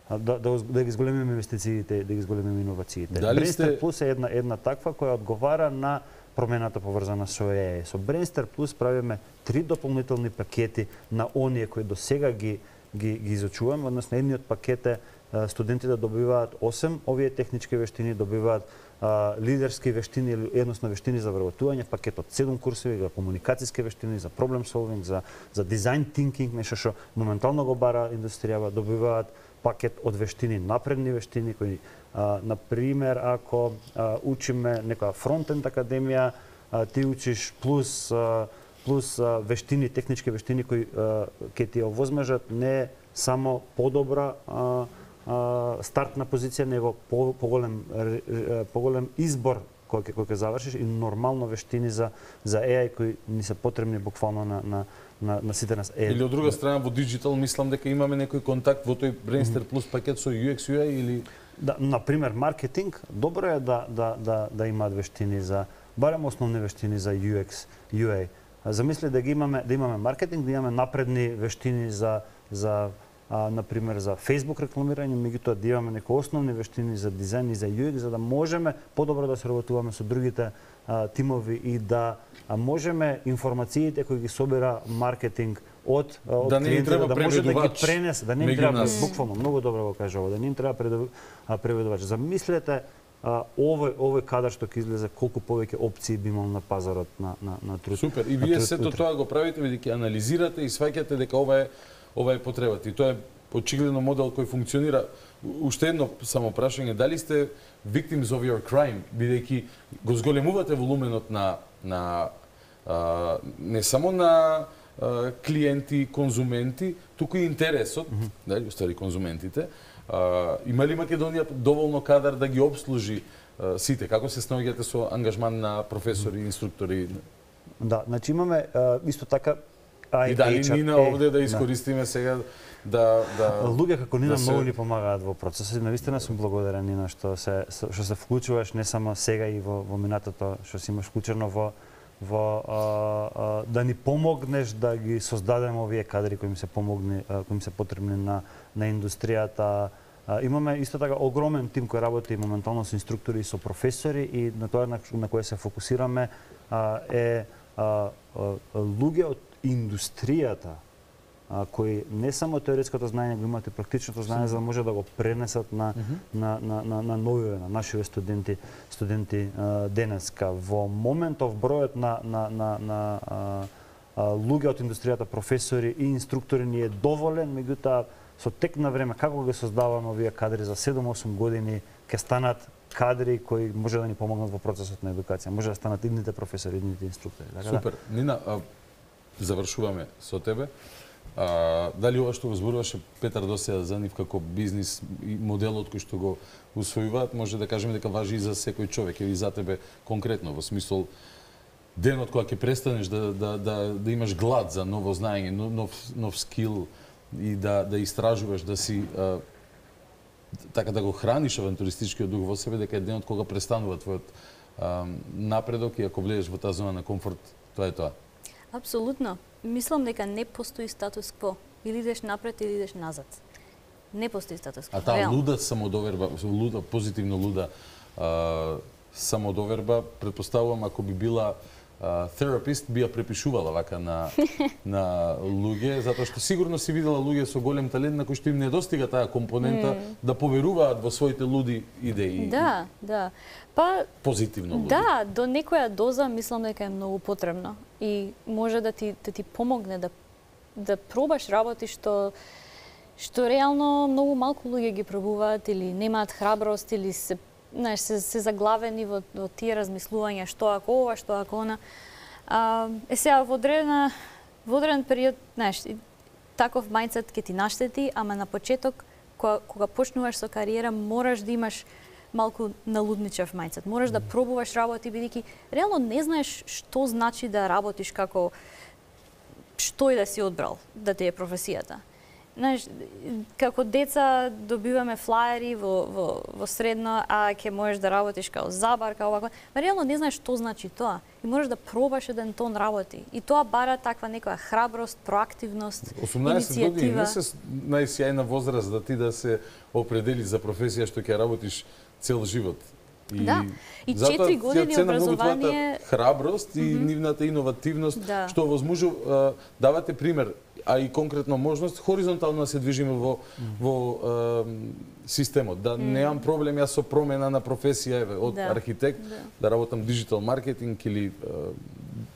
а, да, да, да ги зголемиме инвестициите, да ги зголемиме иновациите. Дали Brainster сте- Plus е една една таква која одговара на промената поврзана со е ай. Со Brainster Plus правиме три дополнителни пакети на оние кои до сега ги ги ги изучуваме, односно едниот пакет е студентите добиваат осем овие технички вештини, добиваат а, лидерски вештини или едносно вештини за вработување, пакет од седум курсови за комуникацијски вештини, за проблем солвинг, за за дизајн тинкинг, нешто што моментално го бара индустријава, добиваат пакет од вештини, напредни вештини кои а, на пример ако а, учиме некоја фронтенд академија, а, ти учиш плюс а, плюс а, вештини, технички вештини кои ќе ти овозможат не само подобра а, стартна позиција, него по, поголем поголем избор кој кој ќе завршиш и нормално вештини за за е ай кои ни се потребни буквално на на на, на сите нас. Е, или од друга страна во диджитал мислам дека имаме некој контакт во тој Brainster Plus пакет со ю екс ю ай или да, на пример маркетинг, добро е да да да да имаат вештини за барем основни вештини за ю екс ю ай. Замисли да ги имаме да имаме маркетинг, да имаме напредни вештини за за а, на пример за Facebook рекламирање, меѓутоа да имаме некои основни вештини за дизајн и за ю екс, за да можеме подобро да се работуваме со другите а, тимови и да а, можеме информациите кои ги собира маркетинг од од да не им треба да може да ги пренесе, да не им треба нас. буквално многу добро го кажа ова, да не им треба преведувач. Замислете а, овој овој кадар што ќе излезе, колку повеќе опции би имал на пазарот на на на труд. Супер. И вие сето тоа го правите бидејќи анализирате и сваќате дека ова е ова е потребата. И тоа е очигледно модел кој функционира. Уште едно само прашање, дали сте victims of your crime, бидејќи го зголемувате волуменот на на а, не само на а, клиенти, конзументи, туку и интересот, mm -hmm. дали устари конзументите. А, има ли Македонија доволно кадар да ги обслужи а, сите? Како се снаоѓате со ангажман на професори, инструктори? Да, значи имаме а, исто така и дали Нина овде да искористиме сега да да луѓе како Нина да се... многу ни помагаат во процесот. Навистина сум благодарен Нина што се што се вклучуваш не само сега и во во минатото, што си имаш вклучено во во а, а, да ни помогнеш да ги создадеме овие кадри кои им се помогни, кои им се потребни на на индустријата. А, имаме исто така огромен тим кој работи моментално со инструктори и со професори и на тоа на, на кое се фокусираме а, е а, а, луѓе од индустријата а, кои не само теоретското знаење го имаат и практичното знаење за да може да го пренесат на mm -hmm. на на на на новиве, на нашите студенти студенти а, денеска. Во моментов бројот на на на на а, а, луѓе од индустријата, професори и инструктори ни е доволен, меѓутоа со тек на време како ги создаваме овие кадри за седум-осум години ќе станат кадри кои може да ни помогнат во процесот на едукација, може да станат идните професори, идните инструктори. Така супер. Да? Нина, а, завршуваме со тебе. А, дали ова што го зборуваше Петар досега за нив како бизнис и моделот кој што го усвојуваат, може да кажеме дека важи и за секој човек или за тебе конкретно, во смисол денот кога ќе престанеш да да да да имаш глад за ново знаење, нов нов скил и да да истражуваш, да си а, така да го храниш авантуристичкиот дух во себе, дека е денот кога престанува твојот а, напредок и ако влезеш во таа зона на комфорт, тоа е тоа. Апсолутно. Мислам дека не постои статус кво. Или идеш напред или идеш назад. Не постои статус кво. А таа луда самодоверба, луда позитивно луда а, самодоверба, претпоставувам ако би била терапист би ја препишувала вака на на луѓе, затоа што сигурно си видела луѓе со голем талент на кои што им недостига таа компонента mm. да поверуваат во своите луди идеи. Да, да. Па позитивно луди. Да, до некоја доза мислам дека е многу потребно и може да ти да ти помогне да да пробаш работи што што реално многу малку луѓе ги пробуваат или немаат храброст или се знаеш, се, се заглавени во, во тие размислувања, што ако ова, што ако она. А, е сега, во одреден, во одреден период, знаеш, таков мајндсет ќе ти наштети, ама на почеток, кога, кога почнуваш со кариера, мораш да имаш малку налудничев мајндсет. Мораш да пробуваш работи, бидејќи реално не знаеш што значи да работиш како што и да си одбрал, да ти е професијата. Знаеш, како деца добиваме флаери во, во, во средно, а ќе можеш да работиш као забарка, овако. Ма реално не знаеш што значи тоа. И можеш да пробаш еден тон работи. И тоа бара таква некоја храброст, проактивност, осумнаесет иницијатива. години не се најсјајна возраст да ти да се определиш за професија што ќе работиш цел живот. И Да. И затоа четири ја години ценам многу твојата образование- храброст и нивната иновативност, Да. што возможу а, давате пример, а и конкретно можност хоризонтално да се движиме во во а, системот. Да немам проблем јас со промена на професија, еве, од Да. архитект Да. да работам диджитал маркетинг или а,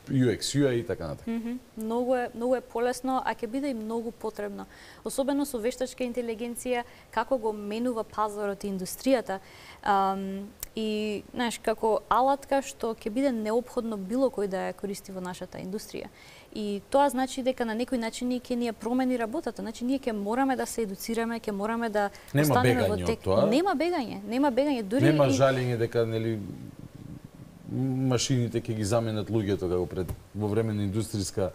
ю екс, ю ей и така натаму. Мгм. Многу е многу е полесно, а ќе биде и многу потребно. Особено со вештачка интелигенција, како го менува пазарот и индустријата. Ам, и знаеш, како алатка што ќе биде неопходно било кој да ја користи во нашата индустрија. И тоа значи дека на некој начин ние ќе ни ја промени работата. Значи ние ќе мораме да се едуцираме, ќе мораме да Нема останеме во бегање од тек. тоа. Нема бегање, нема бегање, дури Нема и жалење дека нели машините ќе ги заменат луѓето како пред во време на индустријска а,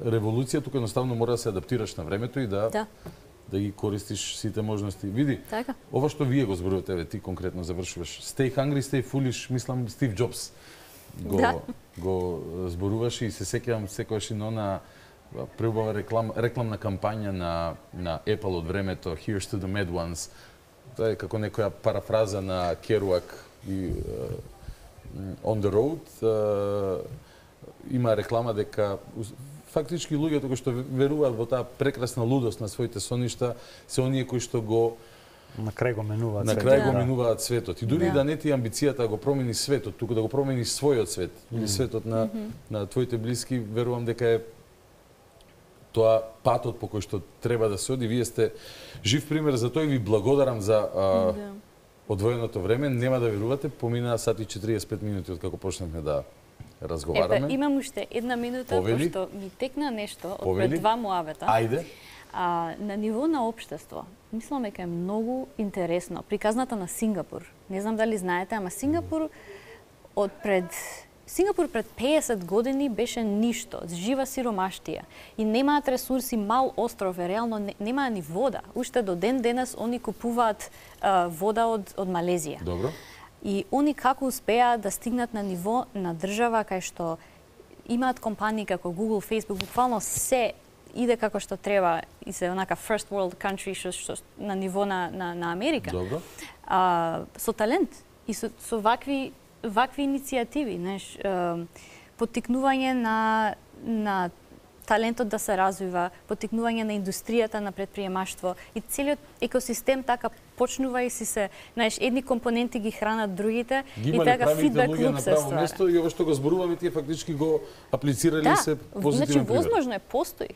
револуција, тука едноставно мора да се адаптираш на времето и да Да, да ги користиш сите можности. Види, така. ова што вие го зборувате, еве ти конкретно завршуваш. Stay hungry, stay foolish, мислам Стив Џобс го Да. го зборуваше и се сеќавам секогаш и на она преубава реклам, рекламна кампања на на Apple од времето Here's to the Mad Ones. Тоа е како некоја парафраза на Керуак и uh, On the Road. Uh, има реклама дека фактички луѓето кои што веруваат во таа прекрасна лудост на своите соништа се оние кои што го На крај го менуваат. на светот. крај Да. го минуваат светот. И дури Да. да не ти е амбицијата да го промени светот, туку да го промени својот свет, или светот на на твоите блиски, верувам дека е тоа патот по кој што треба да се оди. Вие сте жив пример за тоа и ви благодарам за а, Да. одвоеното време. Нема да верувате, поминаа сат и четириесет и пет минути од како почнавме да разговараме. Епе, имам уште една минута, Повели. пошто ми текна нешто од Повели. пред два муавета. Ајде. А, на ниво на општество, мислам дека е многу интересно. Приказната на Сингапур. Не знам дали знаете, ама Сингапур од пред Сингапур пред пеесет години беше ништо, жива сиромаштија. И немаат ресурси, мал остров е, реално не, немаа ни вода. Уште до ден денес они купуваат а, вода од, од Малезија. Добро. И они како успеаат да стигнат на ниво на држава кај што имаат компании како Google, Facebook, буквално се иде како што треба и се онака first world country што, што на ниво на, на, на Америка. Добро. А, со талент и со, со вакви вакви иницијативи, знаеш, е, поттикнување на на талентот да се развива, поттикнување на индустријата на предприемаштво и целиот екосистем така почнува и си се, знаеш, едни компоненти ги хранат другите Ги и имале така правите фидбек луѓе луп на се право ствара. место и ова што го зборуваме тие фактички го аплицирали Да, се значи позитивен пример. возможно е, постои.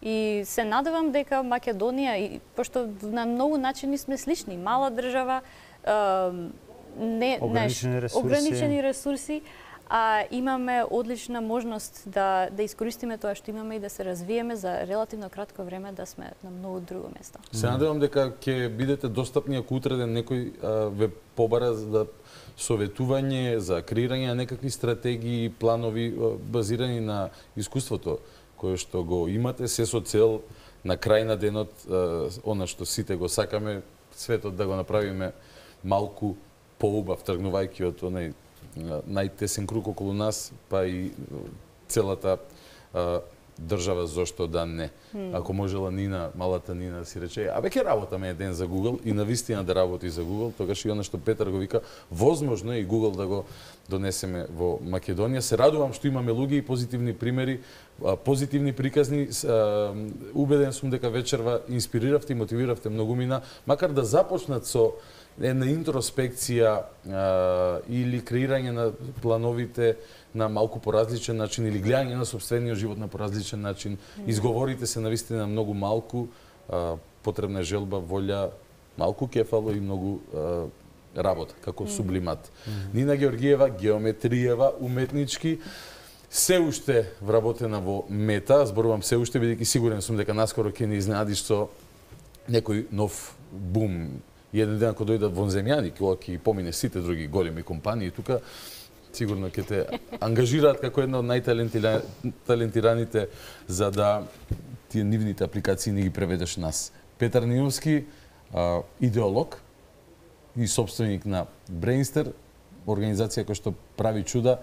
И се надевам дека Македонија, и пошто на многу начини сме слични, мала држава, е, не, Ограничени знаеш, ресурси. ограничени ресурси, а имаме одлична можност да да искористиме тоа што имаме и да се развиеме за релативно кратко време да сме на многу друго место. Се надевам дека ќе бидете достапни ако утре ден некој а, ве побара за да советување за креирање на некакви стратегии и планови а, базирани на искуството кое што го имате, се со цел на крај на денот а, она што сите го сакаме, светот да го направиме малку поубав, тргнувајќи од онај а, најтесен круг околу нас, па и целата а, држава, зошто да не. Ако можела Нина, малата Нина да си рече, абе ќе работаме еден за Google и навистина да работи за Google, тогаш и она што Петар го вика, возможно е и Google да го донесеме во Македонија. Се радувам што имаме луѓе и позитивни примери, а, позитивни приказни. С, а, убеден сум дека вечерва инспириравте и мотивиравте многумина, макар да започнат со една интроспекција а, или креирање на плановите на малку поразличен начин или гледање на собствениот живот на поразличен начин. Изговорите се навистина многу малку, а, потребна е желба, волја, малку кефало и многу а, работа, како сублимат. Нина Георгиева, геометриева, уметнички, се уште вработена во мета, зборувам се уште, бидејќи сигурен сум дека наскоро ќе ни изненадиш со некој нов бум. И еден ден ако дојдат вонземјани, кога ќе помине сите други големи компании тука, сигурно ќе те ангажираат како една од најталентираните за да тие нивните апликации не ги преведеш нас. Петар Ниновски, а, идеолог и собственик на Brainster, организација која што прави чуда.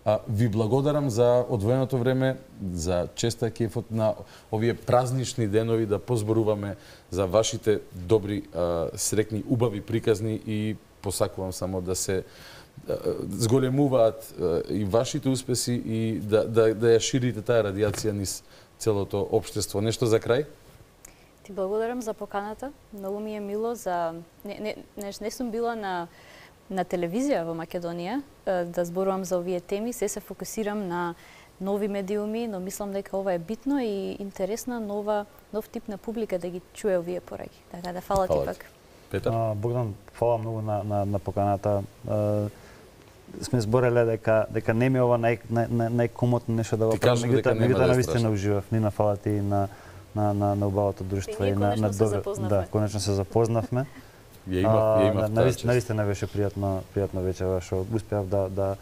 А, ви благодарам за одвоеното време, за честа кефот на овие празнични денови да позборуваме за вашите добри, а, срекни, убави приказни и посакувам само да се зголемуваат и вашите успеси и да, да, да ја ширите таа радиација низ целото општество. Нешто за крај? Ти благодарам за поканата. Многу ми е мило за не не не, не сум била на на телевизија во Македонија да зборувам за овие теми, се се фокусирам на нови медиуми, но мислам дека ова е битно и интересна нова нов тип на публика да ги чуе овие пораки. Така да фала, фала ти пак. Петар? А, Богдан, фала многу на на, на поканата. А, сме збореле дека дека не ми е ова нај нај најкомотно нешто да го правам, меѓутоа меѓутоа навистина уживав. Нина, фала ти на на на на убавото друштво и на на да, конечно се запознавме. Ја имав, ја имав таа чест. Навистина беше пријатно, пријатно вечера што успеав да да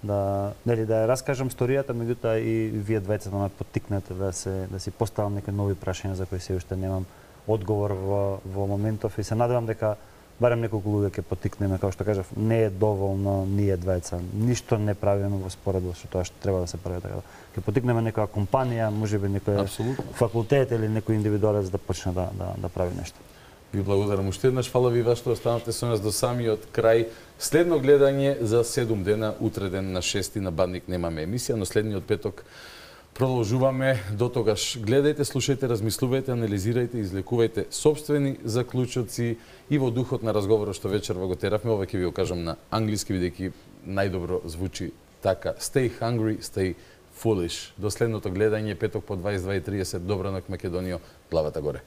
да нели да ја раскажам сторијата, меѓутоа и вие двајцата ме поттикнете да се да си поставам некои нови прашања за кои се уште немам одговор во во моментов и се надевам дека барем неколку луѓе ќе поттикнеме, како што кажав, не е доволно ние двајца. Ништо не правиме во споредба со тоа што треба да се прави, така да ќе поттикнеме некоја компанија, можеби некој факултет или некој индивидуалец да почне да да да прави нешто. Ви благодарам уште еднаш, фала ви вас што останавте со нас до самиот крај. Следно гледање за седум дена, утре ден на шести на Бадник немаме емисија, но следниот петок продолжуваме. До тогаш гледајте, слушајте, размислувајте, анализирајте, излекувајте собствени заклучоци и во духот на разговорот што вечерва го теравме, ова ќе ви го кажам на англиски, бидејќи најдобро звучи така. Stay hungry, stay foolish. До следното гледање, петок по дваесет и два и тридесет, добра ноќ Македонијо, главата горе.